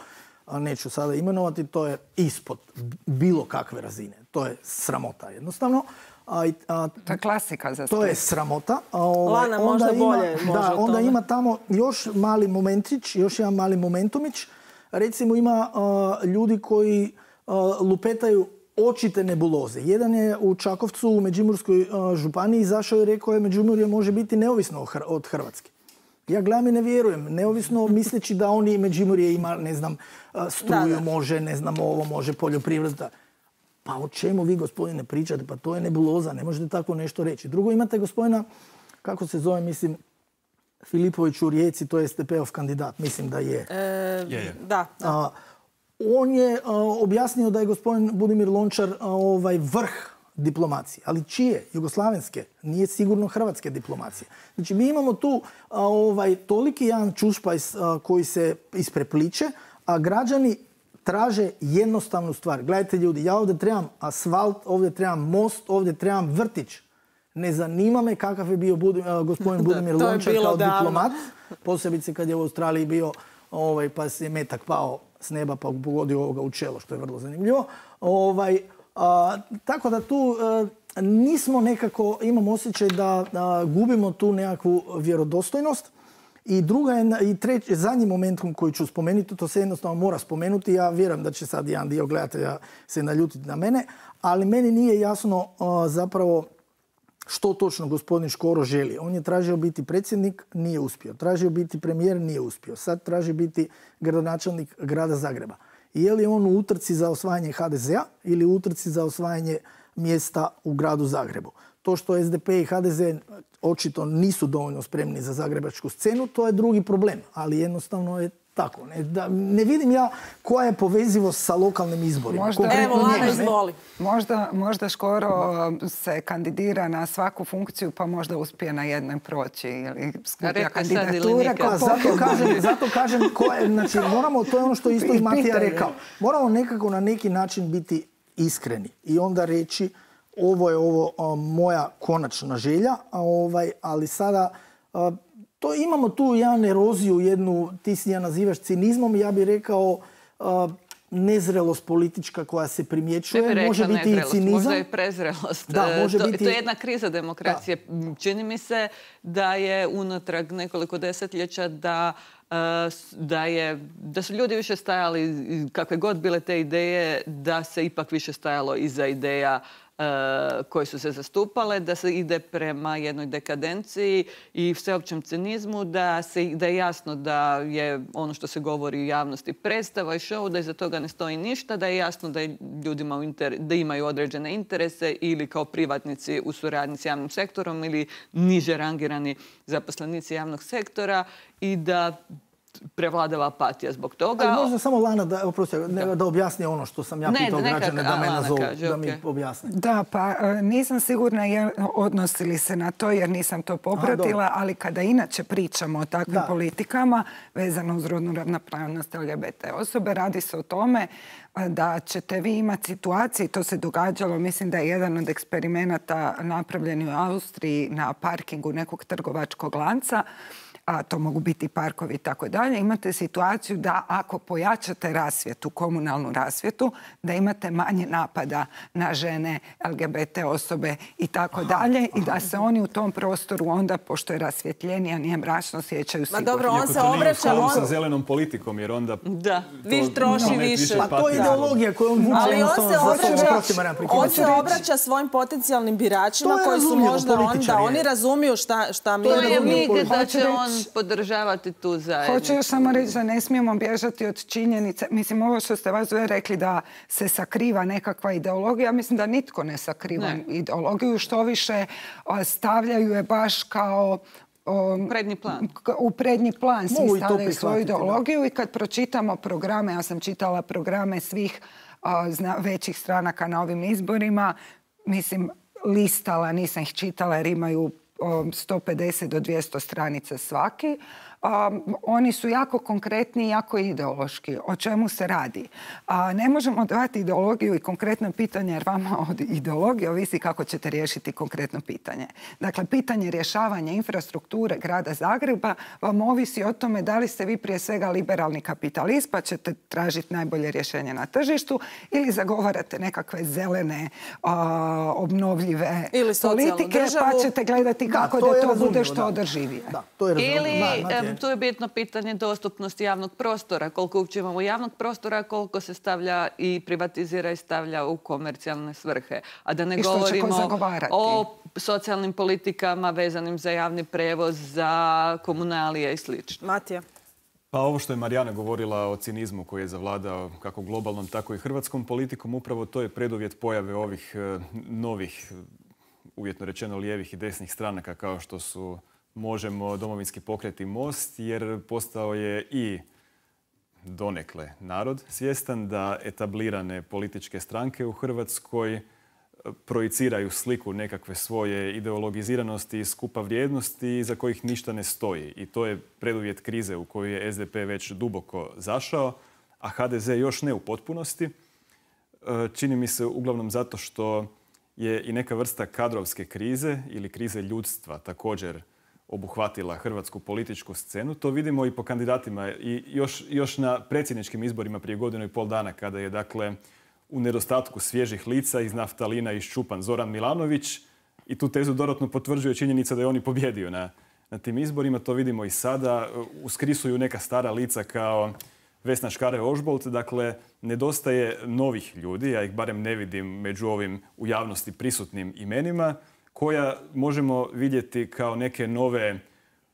neću sada imenovati, to je ispod bilo kakve razine. To je sramota jednostavno. A, a, to je klasika za Split. To je sramota. A, ovaj, Lana, možda ima, bolje može da, onda ima tamo još mali momentić, još jedan mali momentumić. Recimo ima a, ljudi koji a, lupetaju očite nebuloze. Jedan je u Čakovcu u Međimurskoj uh, županiji izašao i rekao je Međimurje može biti neovisno od Hrvatske. Ja gledam i ne vjerujem. Neovisno misleći da oni Međimurje ima, ne znam, struju da, da. može, ne znam, ovo može, poljoprivreda. Pa o čemu vi, gospodine, pričate? Pa to je nebuloza, ne možete tako nešto reći. Drugo, imate gospodina, kako se zove, mislim, Filipović u Rijeci, to je S D P-ov kandidat, mislim da je. E, je, je. Da, da. A, on je a, objasnio da je gospodin Budimir Lončar a, ovaj, vrh diplomacije. Ali čije? Jugoslavenske. Nije sigurno hrvatske diplomacije. Znači, mi imamo tu a, ovaj, toliki jedan čušpajs a, koji se isprepliče, a građani traže jednostavnu stvar. Gledajte ljudi, ja ovdje trebam asfalt, ovdje trebam most, ovdje trebam vrtić. Ne zanima me kakav je bio Budim, uh, gospodin Budimir Lončar kao davno. diplomat. Posebice kad je u Australiji bio, ovaj, pa se je metak pao s neba pa pogodio ovoga u čelo, što je vrlo zanimljivo. Ovaj, a, tako da tu a, nismo nekako, imam osjećaj da a, gubimo tu nekakvu vjerodostojnost. I druga je, i treći, zadnji moment koji ću spomenuti, to se jednostavno mora spomenuti. Ja vjerujem da će sad jedan dio gledatelja se naljutiti na mene, ali meni nije jasno a, zapravo što točno gospodin Škoro želi. On je tražio biti predsjednik, nije uspio. Tražio biti premijer, nije uspio. Sad traži biti gradonačelnik grada Zagreba. I je li on u utrci za osvajanje H D Z-a ili u utrci za osvajanje mjesta u gradu Zagrebu? To što S D P i H D Z očito nisu dovoljno spremni za zagrebačku scenu, to je drugi problem. Ali jednostavno je tako. Ne, da, ne vidim ja koja je povezivost sa lokalnim izborima. Možda, evo, Lana, izvoli. Možda, možda Škoro se kandidira na svaku funkciju pa možda uspije na jednoj proći ili skuplja kandidature. Pa, zato kažem, zato kažem ko je, znači, moramo, to je ono što isto i Matija rekao. Moramo nekako na neki način biti iskreni i onda reći ovo je ovo a, moja konačna želja, a, ovaj, ali sada a, to imamo tu jedan eroziju, jednu, ti si ja nazivaš cinizmom, ja bih rekao uh, nezrelost politička koja se primjećuje. Može biti i cinizam. Možda i prezrelost. Da, može to, biti... to je jedna kriza demokracije. Da. Čini mi se da je unatrag nekoliko desetljeća da, uh, da, je, da su ljudi više stajali, kakve god bile te ideje, da se ipak više stajalo iza ideja koje su se zastupale, da se ide prema jednoj dekadenciji i sveopćem cinizmu, da, se, da je jasno da je ono što se govori u javnosti predstava i show, da iza toga ne stoji ništa, da je jasno da je ljudima u inter, da imaju određene interese ili kao privatnici u suradnji s javnim sektorom ili niže rangirani zaposlenici javnog sektora i da prevladava apatija zbog toga. Ali možda samo Lana da, oprosti, da. da objasni ono što sam ja ne, pitao neka, građane da me nazovu, kaže, da okay. mi objasne. Da, pa nisam sigurna je, odnosi li se na to jer nisam to popratila, Aha, ali kada inače pričamo o takvim da. politikama vezano uz rodnu ravnopravnost L G B T osobe, radi se o tome da ćete vi imati situacije, to se događalo, mislim da je jedan od eksperimenata napravljen u Austriji na parkingu nekog trgovačkog lanca, a to mogu biti parkovi i tako dalje, imate situaciju da ako pojačate rasvjetu, komunalnu rasvjetu, da imate manje napada na žene, L G B T osobe i tako dalje i da se oni u tom prostoru onda, pošto je rasvjetljenija, nije mračno, osjećaju sigurno. Ma dobro, on se obraća... obraća... On... sa zelenom politikom, jer onda... Da, vi troši više. Pa to je ideologija koju on vuče. Ali on se obraća, on se obraća svojim potencijalnim biračima koji su možda onda, oni razumiju šta, šta mi... To je mig da će on podržavati tu zajednicu. Hoću još samo reći da ne smijemo bježati od činjenice. Mislim, ovo što ste vas dvoje rekli da se sakriva nekakva ideologija, mislim da nitko ne sakriva ne. ideologiju, što više stavljaju je baš kao... Um, prednji plan. U prednji plan svi stavljaju svoju ideologiju da. I kad pročitamo programe, ja sam čitala programe svih uh, zna, većih stranaka na ovim izborima, mislim, listala, nisam ih čitala jer imaju um, sto pedeset do dvjesto stranica svaki. Um, oni su jako konkretni i jako ideološki. O čemu se radi? A, ne možemo dati ideologiju i konkretno pitanje jer vama od ideologije ovisi kako ćete riješiti konkretno pitanje. Dakle, pitanje rješavanja infrastrukture grada Zagreba vam ovisi o tome da li ste vi prije svega liberalni kapitalist pa ćete tražiti najbolje rješenje na tržištu ili zagovarate nekakve zelene, a, obnovljive ili politike državu. Pa ćete gledati kako da, to, da to razumljivo, bude što da. održivije. Da, to je ili da, tu je bitno pitanje dostupnosti javnog prostora. Koliko uopće imamo javnog prostora, koliko se stavlja i privatizira i stavlja u komercijalne svrhe. A da ne I govorimo o socijalnim politikama vezanim za javni prevoz, za komunalije i slično. Matija. Pa ovo što je Marijana govorila o cinizmu koji je zavladao kako globalnom, tako i hrvatskom politikom, upravo to je preduvjet pojave ovih novih, uvjetno rečeno lijevih i desnih stranaka kao što su Možemo, Domovinski pokret i Most, jer postao je i donekle narod svjestan da etablirane političke stranke u Hrvatskoj projiciraju sliku nekakve svoje ideologiziranosti i skupa vrijednosti iza kojih ništa ne stoji. I to je preduvjet krize u koju je S D P već duboko zašao, a H D Z još ne u potpunosti. Čini mi se uglavnom zato što je i neka vrsta kadrovske krize ili krize ljudstva također obuhvatila hrvatsku političku scenu. To vidimo i po kandidatima i još, još na predsjedničkim izborima prije godinu i pol dana kada je dakle u nedostatku svježih lica iz naftalina iščupan Zoran Milanović i tu tezu dodatno potvrđuje činjenica da je on i pobjedio na, na tim izborima. To vidimo i sada. Uskrisuju neka stara lica kao Vesna Škare-Ožbolt. Dakle, nedostaje novih ljudi, ja ih barem ne vidim među ovim u javnosti prisutnim imenima, koja možemo vidjeti kao neke nove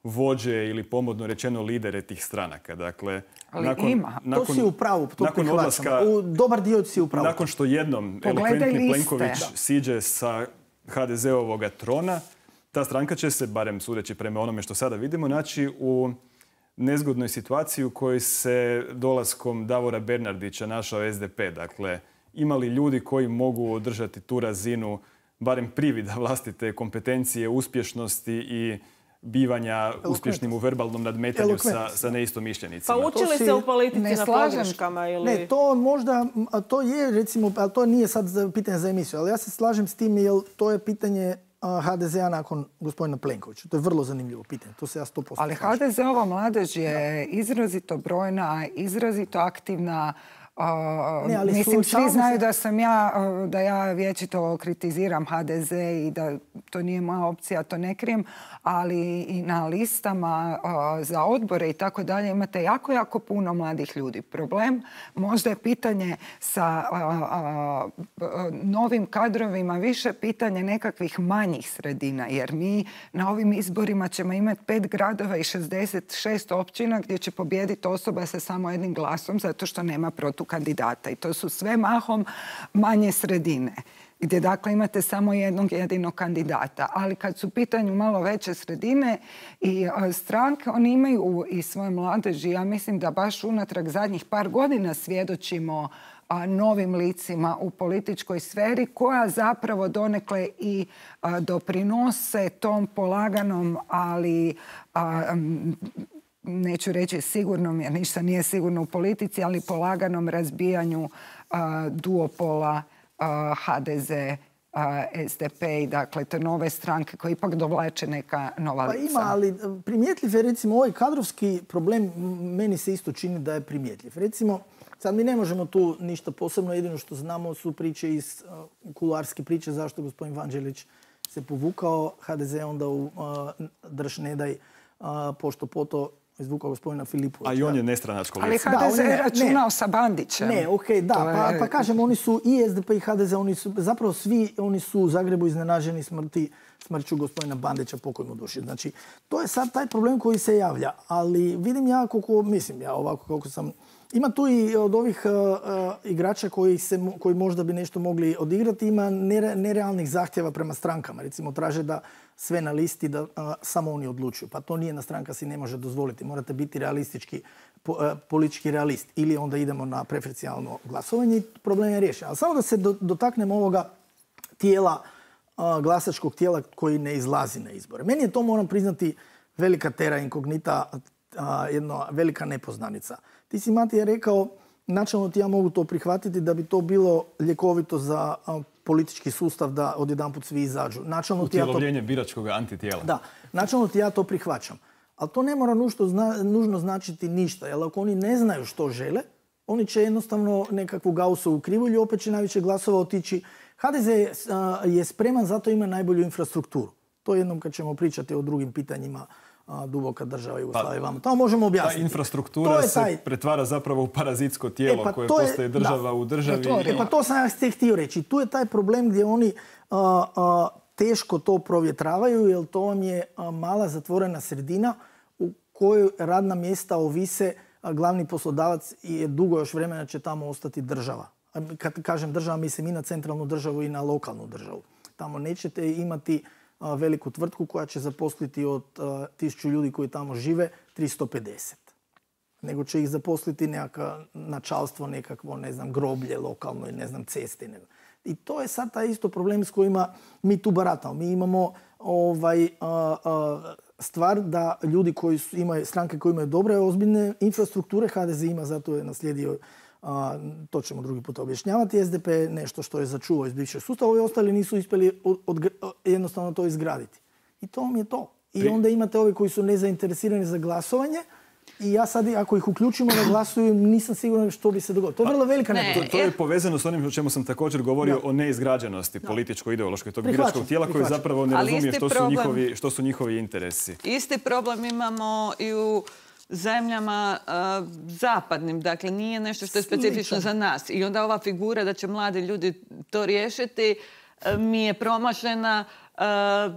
vođe ili pomodno rečeno lidere tih stranaka. Dakle, ali nakon, ima. Nakon, to si u pravu, to nakon odlaska, u dobar dio si u pravu. Nakon što jednom elokventni Plenković siđe sa H D Z-ovoga trona, ta stranka će se, barem sudeći prema onome što sada vidimo, naći u nezgodnoj situaciji u kojoj se dolaskom Davora Bernardića našao S D P. Dakle, imali ljudi koji mogu održati tu razinu barem privida vlastite kompetencije, uspješnosti i bivanja uspješnim u verbalnom nadmetanju sa, sa neistomišljenicima. Pa učili si, se u politici na pogreškama ili... Ne, to možda, to je recimo, ali to nije sad pitanje za emisiju, ali ja se slažem s tim jer to je pitanje H D Z-a nakon gospodina Plenkovića. To je vrlo zanimljivo pitanje. To se ja sto posto ali H D Z-ova mladež je izrazito brojna, izrazito aktivna. Uh, ne, mislim, svi znaju se... da sam ja, uh, da ja vječito kritiziram H D Z i da to nije moja opcija, to ne krijem, ali i na listama uh, za odbore i tako dalje imate jako, jako puno mladih ljudi. Problem možda je pitanje sa uh, uh, novim kadrovima, više pitanje nekakvih manjih sredina, jer mi na ovim izborima ćemo imati pet gradova i šezdeset šest općina gdje će pobijediti osoba sa samo jednim glasom zato što nema protu kandidata. I to su sve mahom manje sredine, gdje dakle imate samo jednog jedinog kandidata. Ali kad su u pitanju malo veće sredine i stranke, oni imaju i svoje mladeži. Ja mislim da baš unatrag zadnjih par godina svjedočimo a, novim licima u političkoj sferi koja zapravo donekle i a, doprinose tom polaganom, ali a, m, neću reći sigurnom, jer ništa nije sigurno u politici, ali polaganom razbijanju uh, duopola uh, H D Z S D P i dakle te nove stranke koje ipak dovlače neka nova lica. Pa ima, ali primjetljiv je recimo ovaj kadrovski problem, meni se isto čini da je primjetljiv. Recimo, sad mi ne možemo tu ništa posebno, jedino što znamo su priče iz uh, kuloarske priče zašto gospodin Vanđelić se povukao, H D Z onda u uh, drž ne daj uh, pošto poto izvukao gospodina Filipovića. A i on je nestranačko lice. Ali H D Z je računao sa Bandićem. Ne, okej, okay, da. Je... Pa, pa kažem, oni su i S D P i H D Z, oni su, zapravo svi oni su u Zagrebu iznenaženi smrti, smrću gospodina Bandića, pokoj mu duši. Znači, to je sad taj problem koji se javlja. Ali vidim ja koliko, mislim ja ovako kako sam... Ima tu i od ovih uh, uh, igrača koji, se, koji možda bi nešto mogli odigrati, ima nere, nerealnih zahtjeva prema strankama. Recimo, traže da sve na listi, da uh, samo oni odlučuju. Pa to nijedna stranka si ne može dozvoliti. Morate biti realistički, po, uh, politički realist. Ili onda idemo na preferencijalno glasovanje i problem je riješen. Ali samo da se do, dotaknemo ovoga tijela, uh, glasačkog tijela koji ne izlazi na izbore. Meni je to, moram priznati, velika terra incognita, uh, jedna velika nepoznanica. Ti si, Matija, rekao, načelno ti ja mogu to prihvatiti da bi to bilo ljekovito za a, politički sustav da odjedanput svi izađu. Utjelovljenje ja to... biračkog antitijela. Da, načelno ti ja to prihvaćam. Ali to ne mora nužno, zna, nužno značiti ništa. Jer ako oni ne znaju što žele, oni će jednostavno nekakvu Gaussovu krivulju, opet će najviše glasova otići. H D Z a, je spreman, zato ima najbolju infrastrukturu. To jednom kad ćemo pričati o drugim pitanjima, a, duboka država Jugoslavije. Pa, tamo možemo objasniti. Ta infrastruktura se taj... pretvara zapravo u parazitsko tijelo e, pa koje postaje država da. u državi. E, pa to sam ja htio reći. Tu je taj problem gdje oni a, a, teško to provjetravaju, jer to vam je a, mala zatvorena sredina u kojoj radna mjesta ovise, a glavni poslodavac je dugo još vremena će tamo ostati država. A kad kažem država, mislim i na centralnu državu i na lokalnu državu. Tamo nećete imati veliku tvrtku koja će zaposliti od uh, tisuću ljudi koji tamo žive tristo pedeset. Nego će ih zaposliti nekako načalstvo, nekakvo, ne znam, groblje lokalno i ne znam, ceste. Ne. I to je sad taj isto problem s kojima mi tu baratamo. Mi imamo ovaj, uh, uh, stvar da ljudi koji su, imaju, stranke koje imaju dobre, ozbiljne infrastrukture, H D Z ima, zato je naslijedio, a, to ćemo drugi put objašnjavati, S D P je nešto što je začuvao iz bivšeg sustava, ovi ostali nisu uspjeli od, od, jednostavno to izgraditi. I to vam je to. I onda imate ovi koji su nezainteresirani za glasovanje i ja sad, ako ih uključimo da glasuju, nisam siguran što bi se dogodilo. To je vrlo velika nepoznanica. To, to je povezano s onim o čemu sam također govorio, da. o neizgrađenosti političko-ideološkoj tog biračkog tijela koji zapravo ne razumije što su, njihovi, što su njihovi interesi. Isti problem imamo i u zemljama uh, zapadnim. Dakle, nije nešto što je specifično za nas. I onda ova figura da će mladi ljudi to riješiti uh, mi je promašena uh,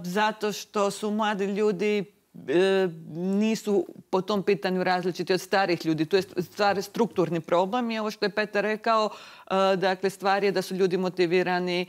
zato što su mladi ljudi uh, nisu po tom pitanju različiti od starih ljudi. To je stvar strukturni problem i ovo što je Petar rekao, uh, dakle, stvar je da su ljudi motivirani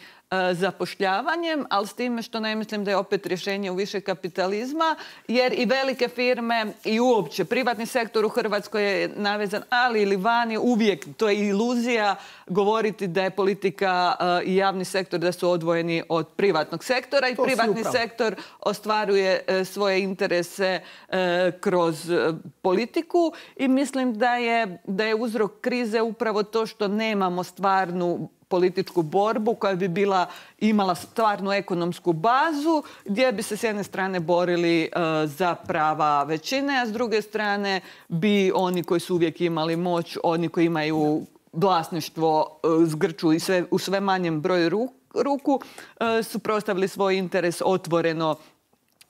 zapošljavanjem, ali s time što ne mislim da je opet rješenje u više kapitalizma, jer i velike firme i uopće privatni sektor u Hrvatskoj je navezan, ali ili vani uvijek, to je iluzija govoriti da je politika uh, i javni sektor da su odvojeni od privatnog sektora i to privatni sektor ostvaruje uh, svoje interese uh, kroz uh, politiku i mislim da je, da je uzrok krize upravo to što nemamo stvarnu političku borbu koja bi bila, imala stvarnu ekonomsku bazu gdje bi se s jedne strane borili uh, za prava većine, a s druge strane bi oni koji su uvijek imali moć, oni koji imaju vlasništvo uh, zgrču i sve, u sve manjem broju ruku, ruku uh, suprotstavili svoj interes otvoreno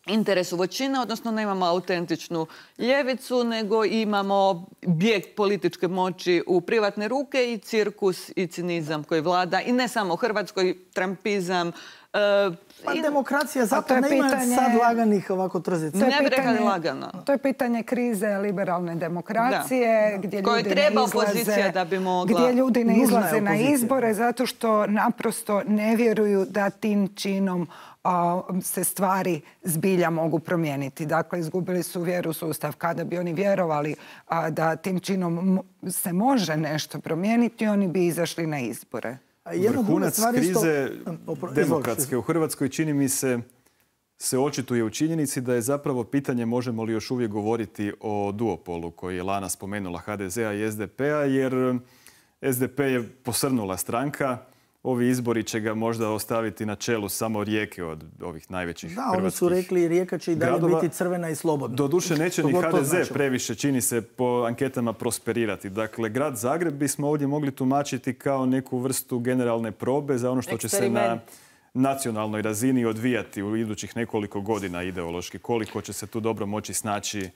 interesu većine, odnosno nemamo autentičnu ljevicu, nego imamo bijeg političke moći u privatne ruke i cirkus i cinizam koji vlada. I ne samo u Hrvatskoj, trampizam. Uh, pa i... demokracija, zato nema pitanje... sad laganih ovako trzica. Ne bi rekali lagano. To je pitanje krize liberalne demokracije, da. Gdje ljudi treba ne izlaze, da bi mogla... gdje ljudi ne izlaze na izbore zato što naprosto ne vjeruju da tim činom se stvari zbilja mogu promijeniti. Dakle, izgubili su vjeru u sustav. Kada bi oni vjerovali da tim činom se može nešto promijeniti, oni bi izašli na izbore. Vrhunac krize demokratske u Hrvatskoj čini mi se se očituje u činjenici da je zapravo pitanje možemo li još uvijek govoriti o duopolu koji je Lana spomenula H D Z-a i S D P-a, jer S D P je posrnula stranka. ovi izbori će ga možda ostaviti na čelu samo Rijeke od ovih najvećih hrvatskih gradova. Da, oni su rekli Rijeka će i dalje biti crvena i slobodna. Doduše neće ni ha de ze previše, čini se, po anketama prosperirati. Dakle, grad Zagreb bismo ovdje mogli tumačiti kao neku vrstu generalne probe za ono što će se na nacionalnoj razini odvijati u idućih nekoliko godina ideološki. Koliko će se tu dobro moći snaći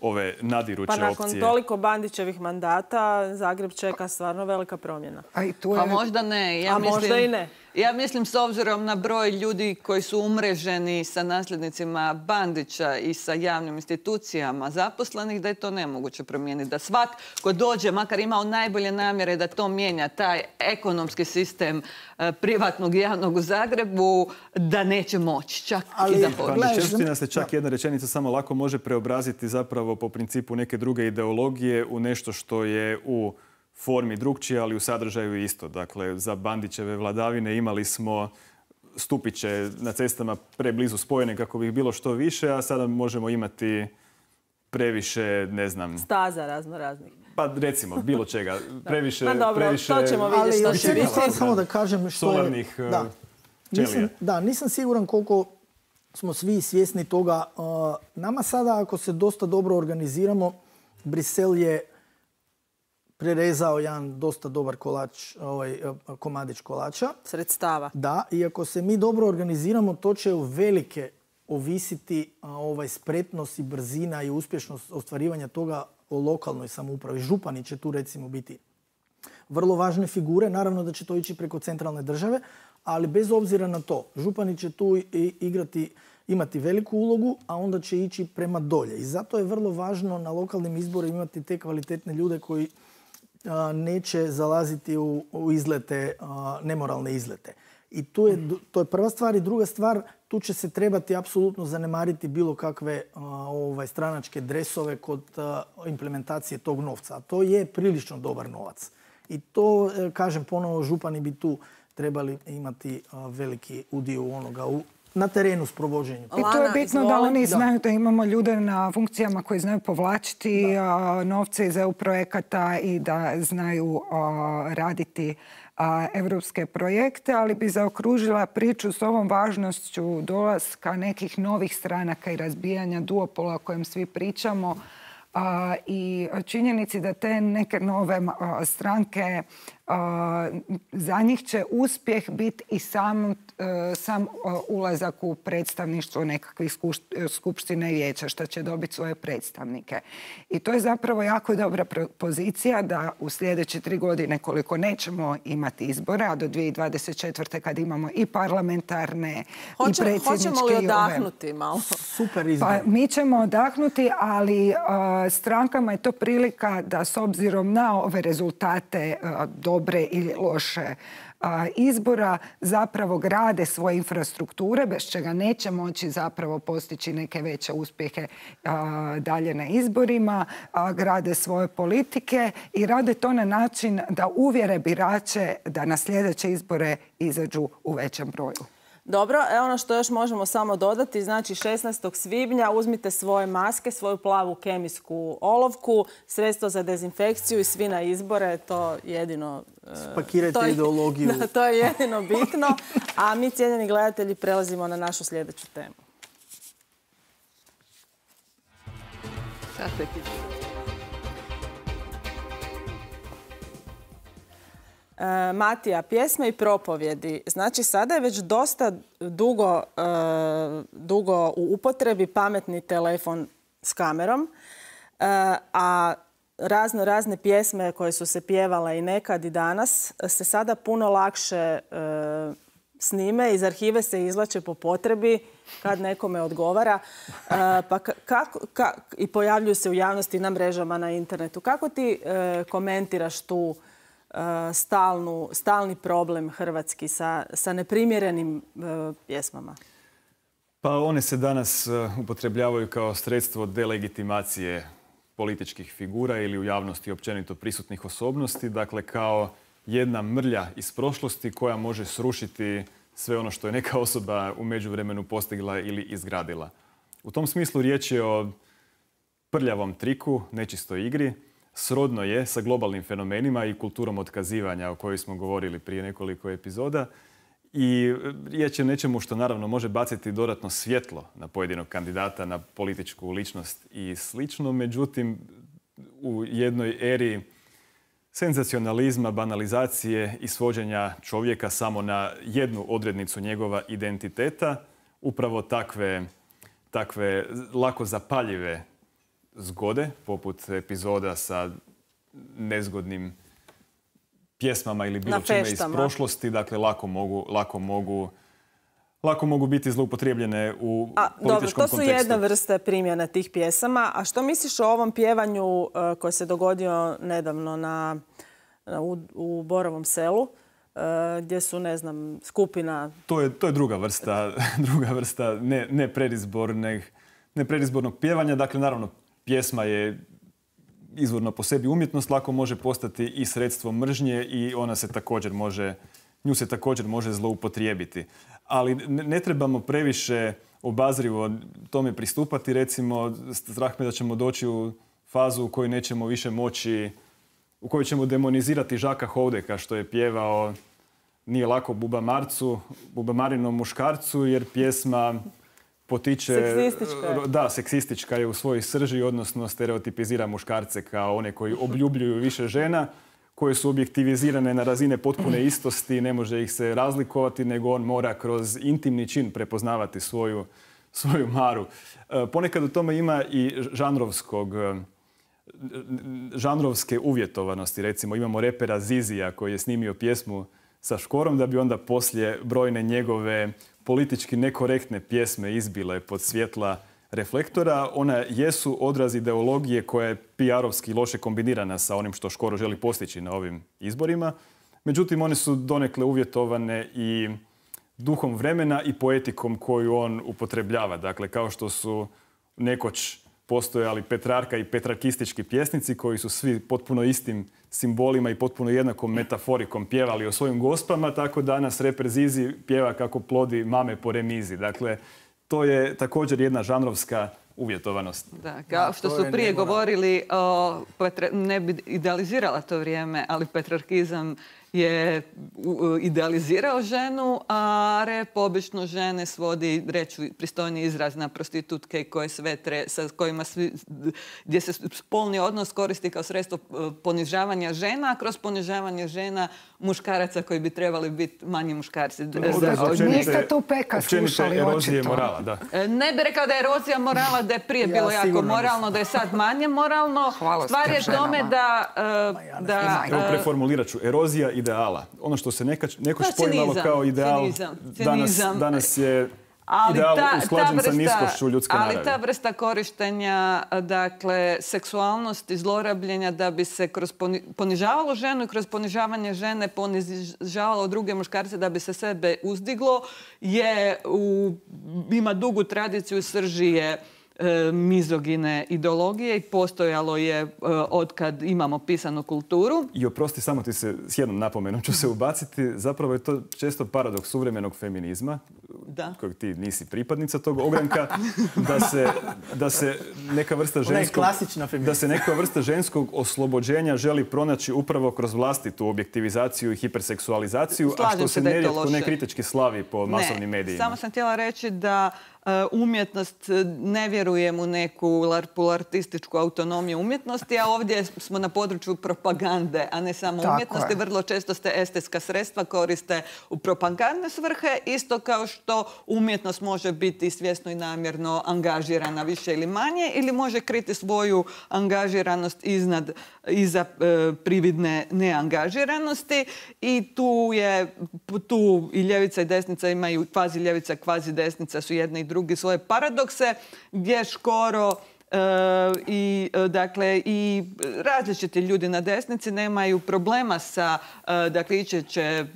ove nadiruće opcije. Pa nakon toliko Bandićevih mandata Zagreb čeka stvarno velika promjena. A i tu je... Pa možda ne. Ja A mislim, možda i ne. Ja mislim s obzirom na broj ljudi koji su umreženi sa nasljednicima Bandića i sa javnim institucijama zaposlenih, da je to nemoguće promijeniti. Da svak ko dođe, makar imao najbolje namjere da to mijenja, taj ekonomski sistem eh, privatnog i javnog u Zagrebu, da neće moći. Čak Ali, i da hoće. Bandićevština se čak jedna rečenica samo lako može preobraziti zapravo po principu neke druge ideologije u nešto što je u formi drugčije, ali u sadržaju isto. Dakle, za Bandićeve vladavine imali smo stupiće na cestama preblizu spojene kako bi ih bilo što više, a sada možemo imati previše, ne znam... Staza razno raznih. Pa recimo, bilo čega. Previše... Pa dobro, previše, to ćemo vidjeti što će biti. Samo da kažem što je... Solarnih da. Nisam, da, nisam siguran koliko smo svi svjesni toga. Nama sada, ako se dosta dobro organiziramo, Brisel je prerezao jedan dosta dobar kolač, ovaj, komadić kolača. Sredstava. Da, i ako se mi dobro organiziramo, to će u velike ovisiti ovaj, spretnost i brzina i uspješnost ostvarivanja toga o lokalnoj samoupravi. Župani će tu recimo biti vrlo važne figure. Naravno da će to ići preko centralne države, ali bez obzira na to, župani će tu igrati, imati veliku ulogu, a onda će ići prema dolje. I zato je vrlo važno na lokalnim izborima imati te kvalitetne ljude koji a, neće zalaziti u, u izlete, a, nemoralne izlete. I tu je, to je prva stvar. I druga stvar, tu će se trebati apsolutno zanemariti bilo kakve a, ovaj, stranačke dresove kod a, implementacije tog novca. A to je prilično dobar novac. I to, kažem ponovo, župani bi tu trebali imati a, veliki udio onoga u na terenu s provođenjem. I to je bitno da oni znaju da imamo ljude na funkcijama koji znaju povlačiti novce iz E U projekata i da znaju raditi evropske projekte, ali bi zaokružila priču s ovom važnošću dolaska nekih novih stranaka i razbijanja duopola o kojem svi pričamo i činjenici da te neke nove stranke, za njih će uspjeh biti i sam, sam ulazak u predstavništvo nekakvih skupštine i vijeća, što će dobiti svoje predstavnike. I to je zapravo jako dobra pozicija da u sljedeće tri godine, koliko nećemo imati izbore, a do dvije tisuće dvadeset četvrte kad imamo i parlamentarne Hoće, i predsjedničke... Hoćemo li odahnuti malo? Super izbor. Pa mi ćemo odahnuti, ali uh, strankama je to prilika da s obzirom na ove rezultate uh, dobre ili loše izbora zapravo grade svoje infrastrukture, bez čega neće moći zapravo postići neke veće uspjehe dalje na izborima, grade svoje politike i rade to na način da uvjere birače da na sljedeće izbore izađu u većem broju. Dobro, evo ono što još možemo samo dodati, znači šesnaestog svibnja uzmite svoje maske, svoju plavu kemijsku olovku, sredstvo za dezinfekciju i svi na izbore, to jedino... Spakirajte to je, ideologiju. Da, to je jedino bitno, a mi, cijenjeni gledatelji, prelazimo na našu sljedeću temu. E, Matija, pjesme i propovjedi. Znači, sada je već dosta dugo, e, dugo u upotrebi pametni telefon s kamerom, e, a razno razne pjesme koje su se pjevale i nekad i danas se sada puno lakše e, snime, iz arhive se izvlače po potrebi kad nekome odgovara e, pa kako, ka, i pojavljuju se u javnosti na mrežama, na internetu. Kako ti e, komentiraš tu Stalnu, stalni problem hrvatski sa, sa neprimjerenim uh, pjesmama? Pa one se danas uh, upotrebljavaju kao sredstvo delegitimacije političkih figura ili u javnosti općenito prisutnih osobnosti. Dakle, kao jedna mrlja iz prošlosti koja može srušiti sve ono što je neka osoba u međuvremenu postigla ili izgradila. U tom smislu riječ je o prljavom triku, nečistoj igri. srodno je sa globalnim fenomenima i kulturom otkazivanja o kojoj smo govorili prije nekoliko epizoda. I riječ je o nečemu što naravno može baciti dodatno svjetlo na pojedinog kandidata, na političku ličnost i slično. Međutim, u jednoj eri senzacionalizma, banalizacije i svođenja čovjeka samo na jednu odrednicu njegova identiteta, upravo takve, takve lako zapaljive zgode, poput epizoda sa nezgodnim pjesmama ili bilo čime iz prošlosti, dakle lako mogu, lako mogu, lako mogu biti zloupotrijebljene u a, političkom dobro, to kontekstu. Su jedna vrsta primjena tih pjesama. A što misliš o ovom pjevanju uh, koji se dogodio nedavno na, na, u, u Borovom selu, uh, gdje su, ne znam, skupina... To je, to je druga vrsta, druga vrsta ne, ne, predizbornog, ne predizbornog pjevanja. Dakle, naravno, pjesma je izvorno po sebi umjetnost, lako može postati i sredstvo mržnje i ona se također može, nju se također može zloupotrijebiti. Ali ne, ne trebamo previše obazrivo tome pristupati. Recimo, strah me da ćemo doći u fazu u kojoj nećemo više moći, u kojoj ćemo demonizirati Žaka Houdeka što je pjevao Nije lako Buba Marcu, Buba Marinom muškarcu, jer pjesma potiče... Seksistička. Da, seksistička je u svojoj srži, odnosno stereotipizira muškarce kao one koji obljubljuju više žena, koje su objektivizirane na razine potpune istosti, ne može ih se razlikovati, nego on mora kroz intimni čin prepoznavati svoju, svoju maru. Ponekad u tome ima i žanrovskog, žanrovske uvjetovanosti. Recimo, imamo repera Zizija koji je snimio pjesmu sa Škorom, da bi onda poslije brojne njegove politički nekorektne pjesme izbile pod svjetla reflektora. Ona jesu odraz ideologije koja je P R-ovski loše kombinirana sa onim što Škoro želi postići na ovim izborima. Međutim, one su donekle uvjetovane i duhom vremena i poetikom koju on upotrebljava. Dakle, kao što su nekoć postojali Petrarka i petrarkistički pjesnici koji su svi potpuno istim simbolima i potpuno jednakom metaforikom pjevali o svojim gospama, tako danas reper Zizi pjeva kako plodi mame po remizi. Dakle, to je također jedna žanrovska uvjetovanost. Da, kao što su prije govorili, o, Petra, ne bi idealizirala to vrijeme, ali petrarkizam je idealizirao ženu, a rep obično žene svodi, reću pristojni izraz, na prostitutke koje sve tre, sa kojima svi, gdje se spolni odnos koristi kao sredstvo ponižavanja žena, a kroz ponižavanje žena muškaraca koji bi trebali biti manji muškarci. Niste tu Peka slušali erozije morala, da. Ne bi rekao da je erozija morala, da je prije bilo ja jako moralno, da je sad manje moralno. Hvala Stvar je tome da... Uh, da Evo, preformulirat ću. Erozija ideala. Ono što se nekač, nekoć poimalo kao ideal, cinizam, danas, cinizam. danas je ali ideal ta, usklađen ta vrsta, sa niskošću ljudske ali naravi. Ali ta vrsta korištenja, dakle, seksualnosti, zlorabljenja da bi se kroz poni, ponižavalo ženu i kroz ponižavanje žene ponižavalo druge muškarce da bi se sebe uzdiglo, je u, ima dugu tradiciju i srži je mizogine ideologije i postojalo je od kad imamo pisanu kulturu. I oprosti, samo ti se s jednom napomenom ću se ubaciti. Zapravo je to često paradoks suvremenog feminizma, da. Kojeg ti nisi pripadnica tog ogranka, da se, da se neka vrsta ženskog, da se neka vrsta ženskog oslobođenja želi pronaći upravo kroz vlastitu objektivizaciju i hiperseksualizaciju, Slažem a što se, se nerijetko nekritički slavi po masovnim ne, medijima. Samo sam htjela reći da umjetnost, ne vjerujem u neku larpulartističku autonomiju umjetnosti, a ovdje smo na području propagande, a ne samo Tako umjetnosti. Je. Vrlo često se estetska sredstva koriste u propagandne svrhe, isto kao što umjetnost može biti svjesno i namjerno angažirana više ili manje, ili može kriti svoju angažiranost iznad, iza e, prividne neangažiranosti. I tu je, tu i ljevica i desnica imaju, kvazi ljevica, kvazi desnica su jedne i drugi svoje paradokse, gdje Škoro e, i, dakle, i različiti ljudi na desnici nemaju problema sa, e, dakle, iće će,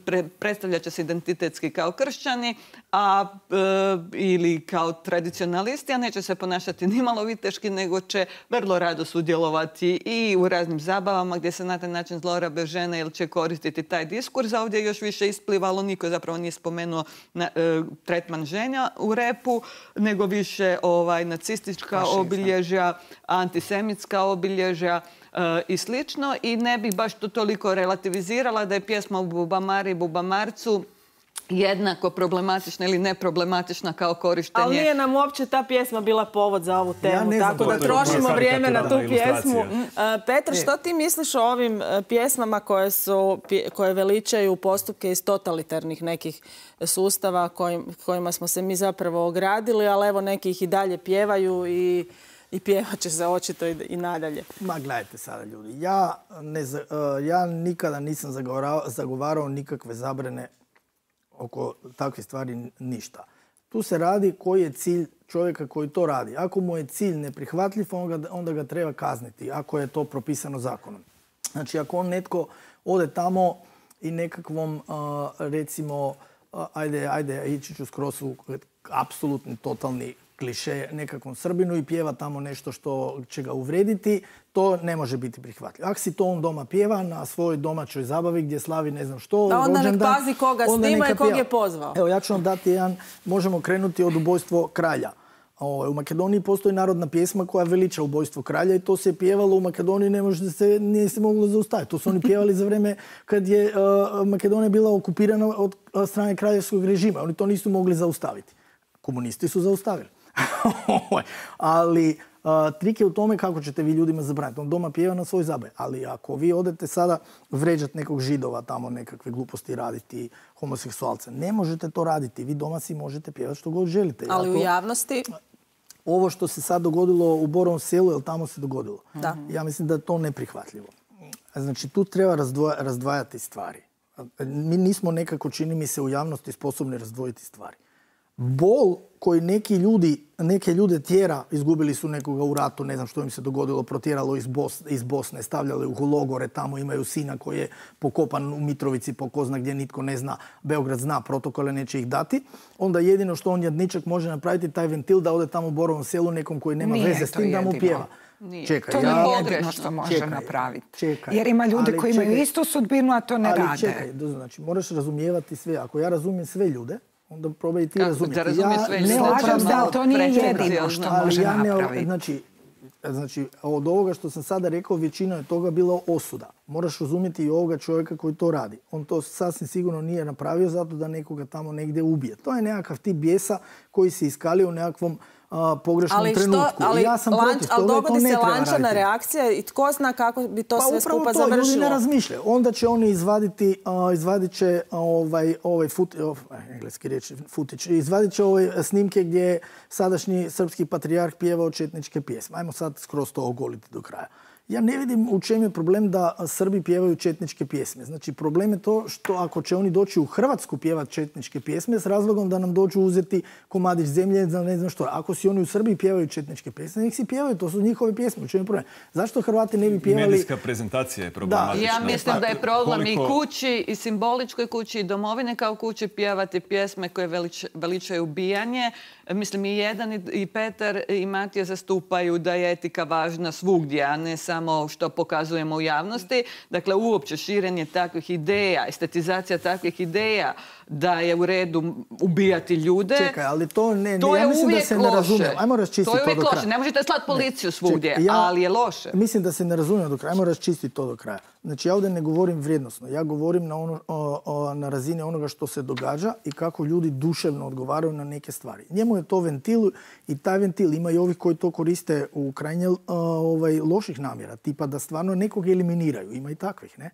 pre, predstavljat će se identitetski kao kršćani, a, e, ili kao tradicionalisti, a neće se ponašati ni malo viteški, nego će vrlo rado sudjelovati i u raznim zabavama gdje se na taj način zlorabe žene ili će koristiti taj diskurs. A ovdje još više isplivalo, niko zapravo nije spomenuo na, e, tretman ženja u repu, nego više ovaj, nacistička obilježja, antisemitska obilježja i slično. I ne bih baš to toliko relativizirala da je pjesma u Bubamari i Bubamarcu jednako problematična ili neproblematična kao korištenje. Ali nije nam uopće ta pjesma bila povod za ovu temu, ja tako da trošimo vrijeme na tu pjesmu. Petar, što ti misliš o ovim pjesmama koje, su, koje veličaju postupke iz totalitarnih nekih sustava kojim, kojima smo se mi zapravo ogradili, ali evo neki ih i dalje pjevaju i i pjevat će se očito i, i nadalje. Ma gledajte sada ljudi, ja, ne, ja nikada nisam zagovarao, zagovarao nikakve zabrane oko takvih stvari, ništa. Tu se radi koji je cilj čovjeka koji to radi. Ako mu je cilj neprihvatljiv, onda, onda ga treba kazniti, ako je to propisano zakonom. Znači, ako on netko ode tamo i nekakvom, uh, recimo, uh, ajde, ajde, ići ću skroz u apsolutni, totalni kliše nekakvom Srbinu i pjeva tamo nešto što će ga uvrediti, to ne može biti prihvatljivo. Ako si to on doma pjeva na svojoj domaćoj zabavi gdje slavi ne znam što, da onda rođendan, nek pazi koga snima i kog je pozvao. Evo, ja ću vam dati jedan, možemo krenuti od ubojstvo kralja. O, u Makedoniji postoji narodna pjesma koja veliča ubojstvo kralja i to se je pjevalo u Makedoniji, ne može se, nije se moglo zaustaviti. To su oni pjevali za vrijeme kad je uh, Makedonija bila okupirana od uh, strane kraljevskog režima. Oni to nisu mogli zaustaviti. Komunisti su zaustavili. Ali uh, trik je u tome kako ćete vi ljudima zabraniti. On doma pjeva na svoj zabavi. Ali ako vi odete sada vređati nekog Židova, tamo nekakve gluposti raditi, homoseksualce, ne možete to raditi. Vi doma si možete pjevati što god želite. Ali to, u javnosti? Ovo što se sad dogodilo u Borovom Selu, jel tamo se dogodilo? Da. Ja mislim da je to neprihvatljivo. Znači, tu treba razdvoja, razdvajati stvari. Mi nismo nekako, čini mi se, u javnosti sposobni razdvojiti stvari. Bol koji neki ljudi, neke ljude tjera, izgubili su nekoga u ratu, ne znam što im se dogodilo, protjeralo iz Bosne, iz Bosne, stavljali u logore, tamo imaju sina koji je pokopan u Mitrovici, po ko zna gdje, nitko ne zna, Beograd zna protokole, neće ih dati. Onda jedino što on jadničak može napraviti taj ventil da ode tamo u Borovom Selu nekom koji nema Nije veze s tim da mu pjeva. Nije. Čekaj, to ja... nije jedino što može čekaj, napraviti. Čekaj, jer ima ljudi koji imaju čekaj, istu sudbinu, a to ne ali rade. Čekaj, znači moraš razumijevati sve. Ako ja razumijem sve ljude, onda probaj i ti Kako razumjeti. da razumije sve ljude? Ne slažem se, ali to nije Preferencijalno. jedino što Ali može ja ne, napraviti. znači, znači, od ovoga što sam sada rekao, većina je toga bila osuda. Moraš razumjeti i ovoga čovjeka koji to radi. On to sasvim sigurno nije napravio zato da nekoga tamo negdje ubije. To je nekakav tip bijesa koji se iskalio u nekakvom a, pogrešnom ali što, trenutku. ali ja sam lanč, protiv ali toga, dogodi to ne se treba lančana raditi. reakcija i tko zna kako bi to Pa sve upravo skupa to, završilo. ljudi ne razmišljaju. Onda će oni izvaditi, uh, izvadit će ovaj, ovaj fut, oh, engleski riječ, futić, izvadit će ove snimke gdje je sadašnji srpski patrijarh pjevao četničke pjesme. Ajmo sad skroz to ogoliti do kraja. Ja ne vidim u čem je problem da Srbi pjevaju četničke pjesme. Znači, problem je to što ako će oni doći u Hrvatsku pjevati četničke pjesme s razlogom da nam dođu uzeti komadić zemlje, za ne znam što. Ako si oni u Srbiji pjevaju četničke pjesme, nek si pjevaju, to su njihove pjesme. U čem je problem? Zašto Hrvati ne bi pjevali... Medijska prezentacija je problematična. Ja mislim da je problem Koliko... i kući, i simboličkoj kući, i domovine kao kući pjevati pjesme koje velič, veličaju ubijanje. Mislim, i jedan i Petar i Matija zastupaju da je etika važna svugdje, a ne samo što pokazujemo u javnosti. Dakle, uopće širenje takvih ideja, estetizacija takvih ideja da je u redu ubijati ljude. Čekaj, ali to ne, to ja je mislim da uvijek se ne razumijem. loše. Ajmo raščistiti To je to uvijek do kraja. loše. Ne možete slati policiju svugdje, Čekaj, ja ali je loše. Mislim da se ne razumijem do kraja. Ajmo raščistiti to do kraja. Znači, ja ovdje ne govorim vrijednosno. Ja govorim na, ono, o, o, na razini onoga što se događa i kako ljudi duševno odgovaraju na neke stvari. Njemu je to ventil i taj ventil ima i ovih koji to koriste u krajnje o, ovaj, loših namjera. Tipa da stvarno nekog eliminiraju. Ima i takvih, ne?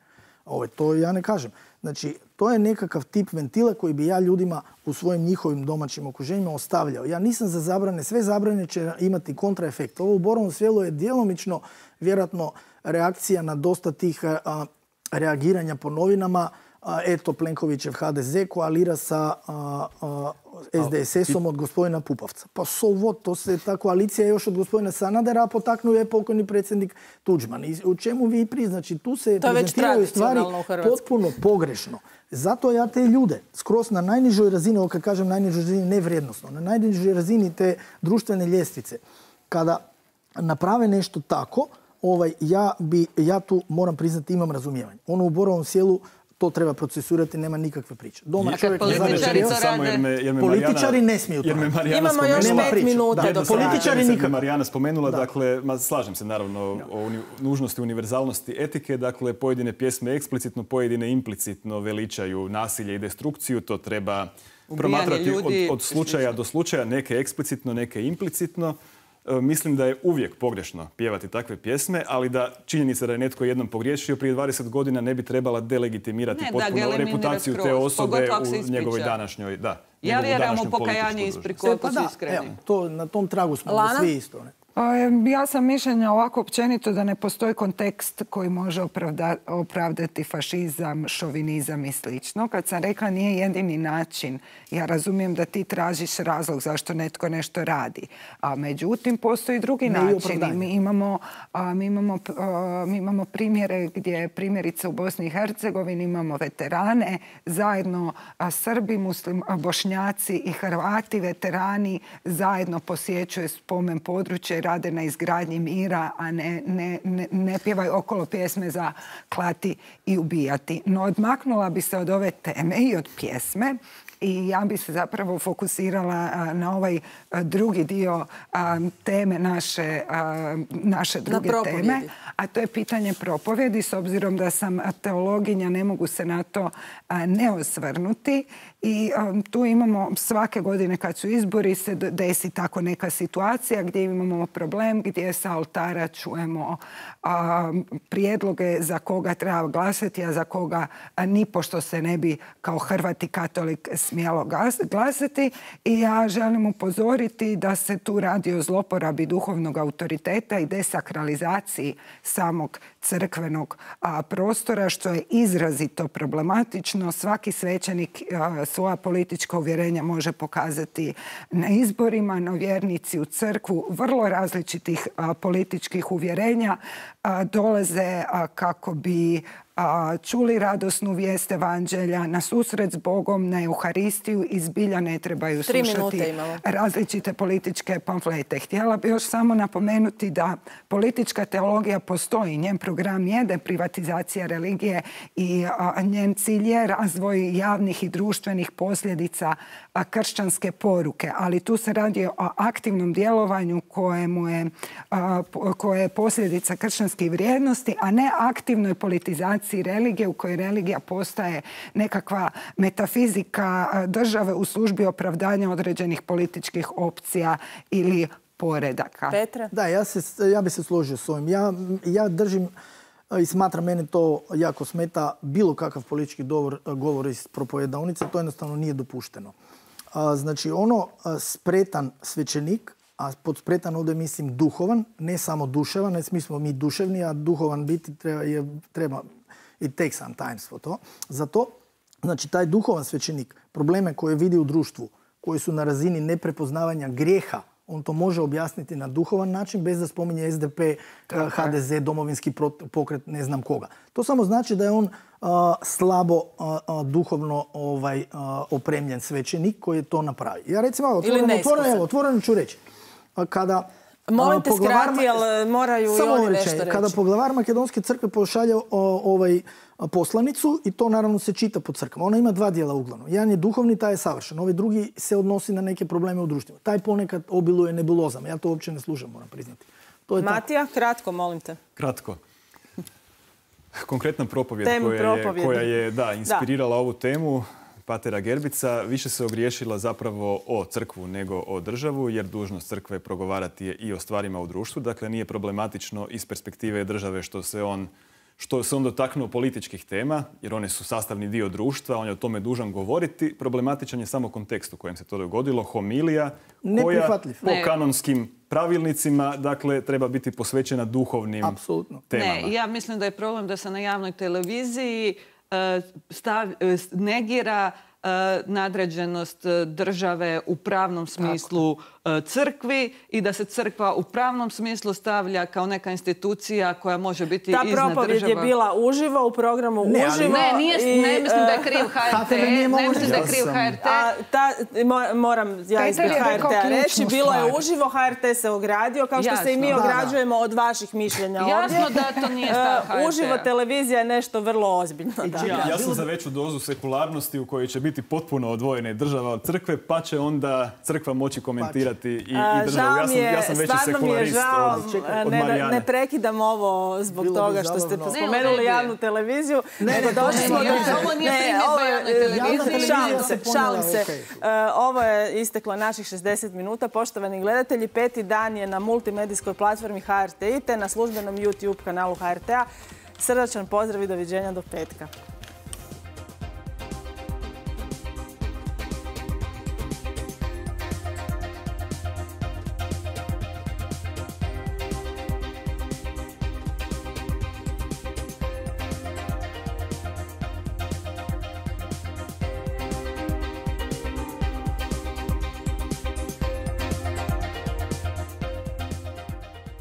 Ovo, to ja ne kažem. Znači, to je nekakav tip ventila koji bi ja ljudima u svojim njihovim domaćim okruženjima ostavljao. Ja nisam za zabrane. Sve zabrane će imati kontraefekt. Ovo u Borovom Selu je djelomično, vjerojatno, reakcija na dosta tih a, reagiranja po novinama. A, eto, Plenkovićev ha de ze koalira sa a, a, es de es esom od gospodina Pupovca. Pa so what, to se ta koalicija još od gospodina Sanadera, a potaknuo je pokojni predsjednik Tuđman. I u čemu vi priznači? Tu se prezentiraju stvari potpuno pogrešno. Zato ja te ljude skroz na najnižoj razini, ovo kad kažem najnižoj razini, ne vrijednosno, na najnižoj razini te društvene ljestvice, kada naprave nešto tako, ovaj, ja, bi, ja tu moram priznati imam razumijevanje. Ono u Borovom Selu to treba procesuirati, nema nikakve priče. Doma čovjek političari to rade. Političari ne smiju to. Imamo još pet minuta do političari nikako. Marijana spomenula, dakle, slažem se naravno o nužnosti univerzalnosti etike, dakle, pojedine pjesme eksplicitno, pojedine implicitno veličaju nasilje i destrukciju, to treba promatrati od, od slučaja do slučaja, neke eksplicitno, neke implicitno. E, mislim da je uvijek pogrešno pjevati takve pjesme, ali da činjenica da je netko jednom pogriješio prije dvadeset godina ne bi trebala delegitimirati ne, potpuno reputaciju te osobe u njegovoj današnjoj... Da, ja vjerujem u pokajanje ispriku, ako pa su iskreni. To, na tom tragu smo svi isto. Ne? Ja sam mišljenja ovako općenito da ne postoji kontekst koji može opravda, opravdati fašizam, šovinizam i slično. Kad sam rekla nije jedini način, ja razumijem da ti tražiš razlog zašto netko nešto radi. A međutim, postoji drugi ne način. Mi imamo, a, mi, imamo, a, mi imamo primjere gdje primjerice u Bosni i Hercegovini imamo veterane, zajedno a, Srbi, muslim, a, Bošnjaci i Hrvati, veterani zajedno posjećuju spomen područje, rade na izgradnji mira, a ne, ne, ne, ne pjevaju okolo pjesme za klati i ubijati. No odmaknula bi se od ove teme i od pjesme i ja bi se zapravo fokusirala a, na ovaj a, drugi dio a, teme naše, a, naše druge teme, a to je pitanje propovjedi. S obzirom da sam teologinja, ne mogu se na to a, ne osvrnuti. I um, tu imamo svake godine kad su izbori se desi tako neka situacija gdje imamo problem gdje sa oltara čujemo a, prijedloge za koga treba glasati, a za koga a, nipošto se ne bi kao Hrvat i katolik smjelo glasati. I ja želim upozoriti da se tu radi o zloporabi duhovnog autoriteta i desakralizaciji samog crkvenog a, prostora, što je izrazito problematično. Svaki svećenik a, svoja politička uvjerenja može pokazati na izborima, no vjernici u crkvu vrlo različitih a, političkih uvjerenja a, dolaze a, kako bi a, čuli radosnu vijest evanđelja, na susret s Bogom, na Euharistiju i zbilja ne trebaju slušati različite političke pamflete. Htjela bih još samo napomenuti da politička teologija postoji. Njen program je deprivatizacija religije i a, njen cilj je razvoj javnih i društvenih posljedica a, kršćanske poruke. Ali tu se radi o aktivnom djelovanju kojemu je, a, koje je posljedica kršćanskih vrijednosti, a ne aktivnoj politizaciji religije u kojoj religija postaje nekakva metafizika države u službi opravdanja određenih političkih opcija ili poredaka. Petra? Da, ja, se, ja bi se složio s ovim. Ja, ja držim i smatram, mene to jako smeta, bilo kakav politički govor, govor iz propovedavnice, to jednostavno nije dopušteno. A, znači, ono spretan svećenik, a pod spretan ovdje mislim duhovan, ne samo duševan, ne smislo mi duševni, a duhovan biti treba, je, treba it takes some time for to. Zato, znači, taj duhovan svećenik, probleme koje vidi u društvu, koji su na razini neprepoznavanja grijeha, on to može objasniti na duhovan način bez da spominje S D P, H D Z, domovinski pokret, ne znam koga. To samo znači da je on uh, slabo uh, duhovno ovaj, uh, opremljen svećenik koji je to napravi. Ja recimo, otvoreno, otvoreno, otvoreno ću reći. Kada Molim te skrati, ali moraju i oni nešto reći. Kada poglavar Makedonske crkve pošalje o, ovaj poslanicu i to naravno se čita po crkvama. Ona ima dva dijela uglavnom. Jedan je duhovni, taj je savršen. Ovaj drugi se odnosi na neke probleme u društvu. Taj ponekad obiluje nebulozama. Ja to uopće ne slušam, moram priznati. To je Matija, tako. Kratko, molim te. Kratko. Konkretna propovjed koja je, koja je da, inspirirala da. ovu temu, Patera Gerbica, više se ogriješila zapravo o crkvu nego o državu, jer dužnost crkve progovarati je i o stvarima u društvu. Dakle, nije problematično iz perspektive države što se on što se on dotaknuo političkih tema, jer one su sastavni dio društva, on je o tome dužan govoriti. Problematičan je samo kontekst u kojem se to dogodilo, homilija koja po kanonskim pravilnicima, dakle, treba biti posvećena duhovnim Apsolutno. temama. Ne, ja mislim da je problem da se na javnoj televiziji stav, negira nadređenost države u pravnom smislu crkvi i da se crkva u pravnom smislu stavlja kao neka institucija koja može biti iznad država. Ta propovjed je bila uživo u programu ne, uživo. Ne, nije, i, ne mislim da je kriv H R T. Ne, ne mislim da je kriv H R T. A, ta, moram ja ispred H R T-a reći, bilo je uživo, H R T se ogradio, kao što Jasno. se i mi Da, ograđujemo da. od vaših mišljenja ovdje. Jasno da to nije stav H R T-a. Uživo televizija je nešto vrlo ozbiljno. Da. Ja, ja sam za veću dozu sekularnosti u kojoj će biti potpuno odvojene država od crkve, pa će onda crkva moći komentirati i, i državu. Ja sam, ja sam veći sekularist od, od Marijane. Ne, ne prekidam ovo zbog Bilo toga što ste spomenuli javnu televiziju. Ne, ne, došli smo do... Ovo nije primjedba javnoj televiziji. Šalim se, šalim se. Ovo je isteklo naših šezdeset minuta. Poštovani gledatelji, peti dan je na multimedijskoj platformi H R T te na službenom YouTube kanalu H R T-a. Srdačan pozdrav i doviđenja do petka.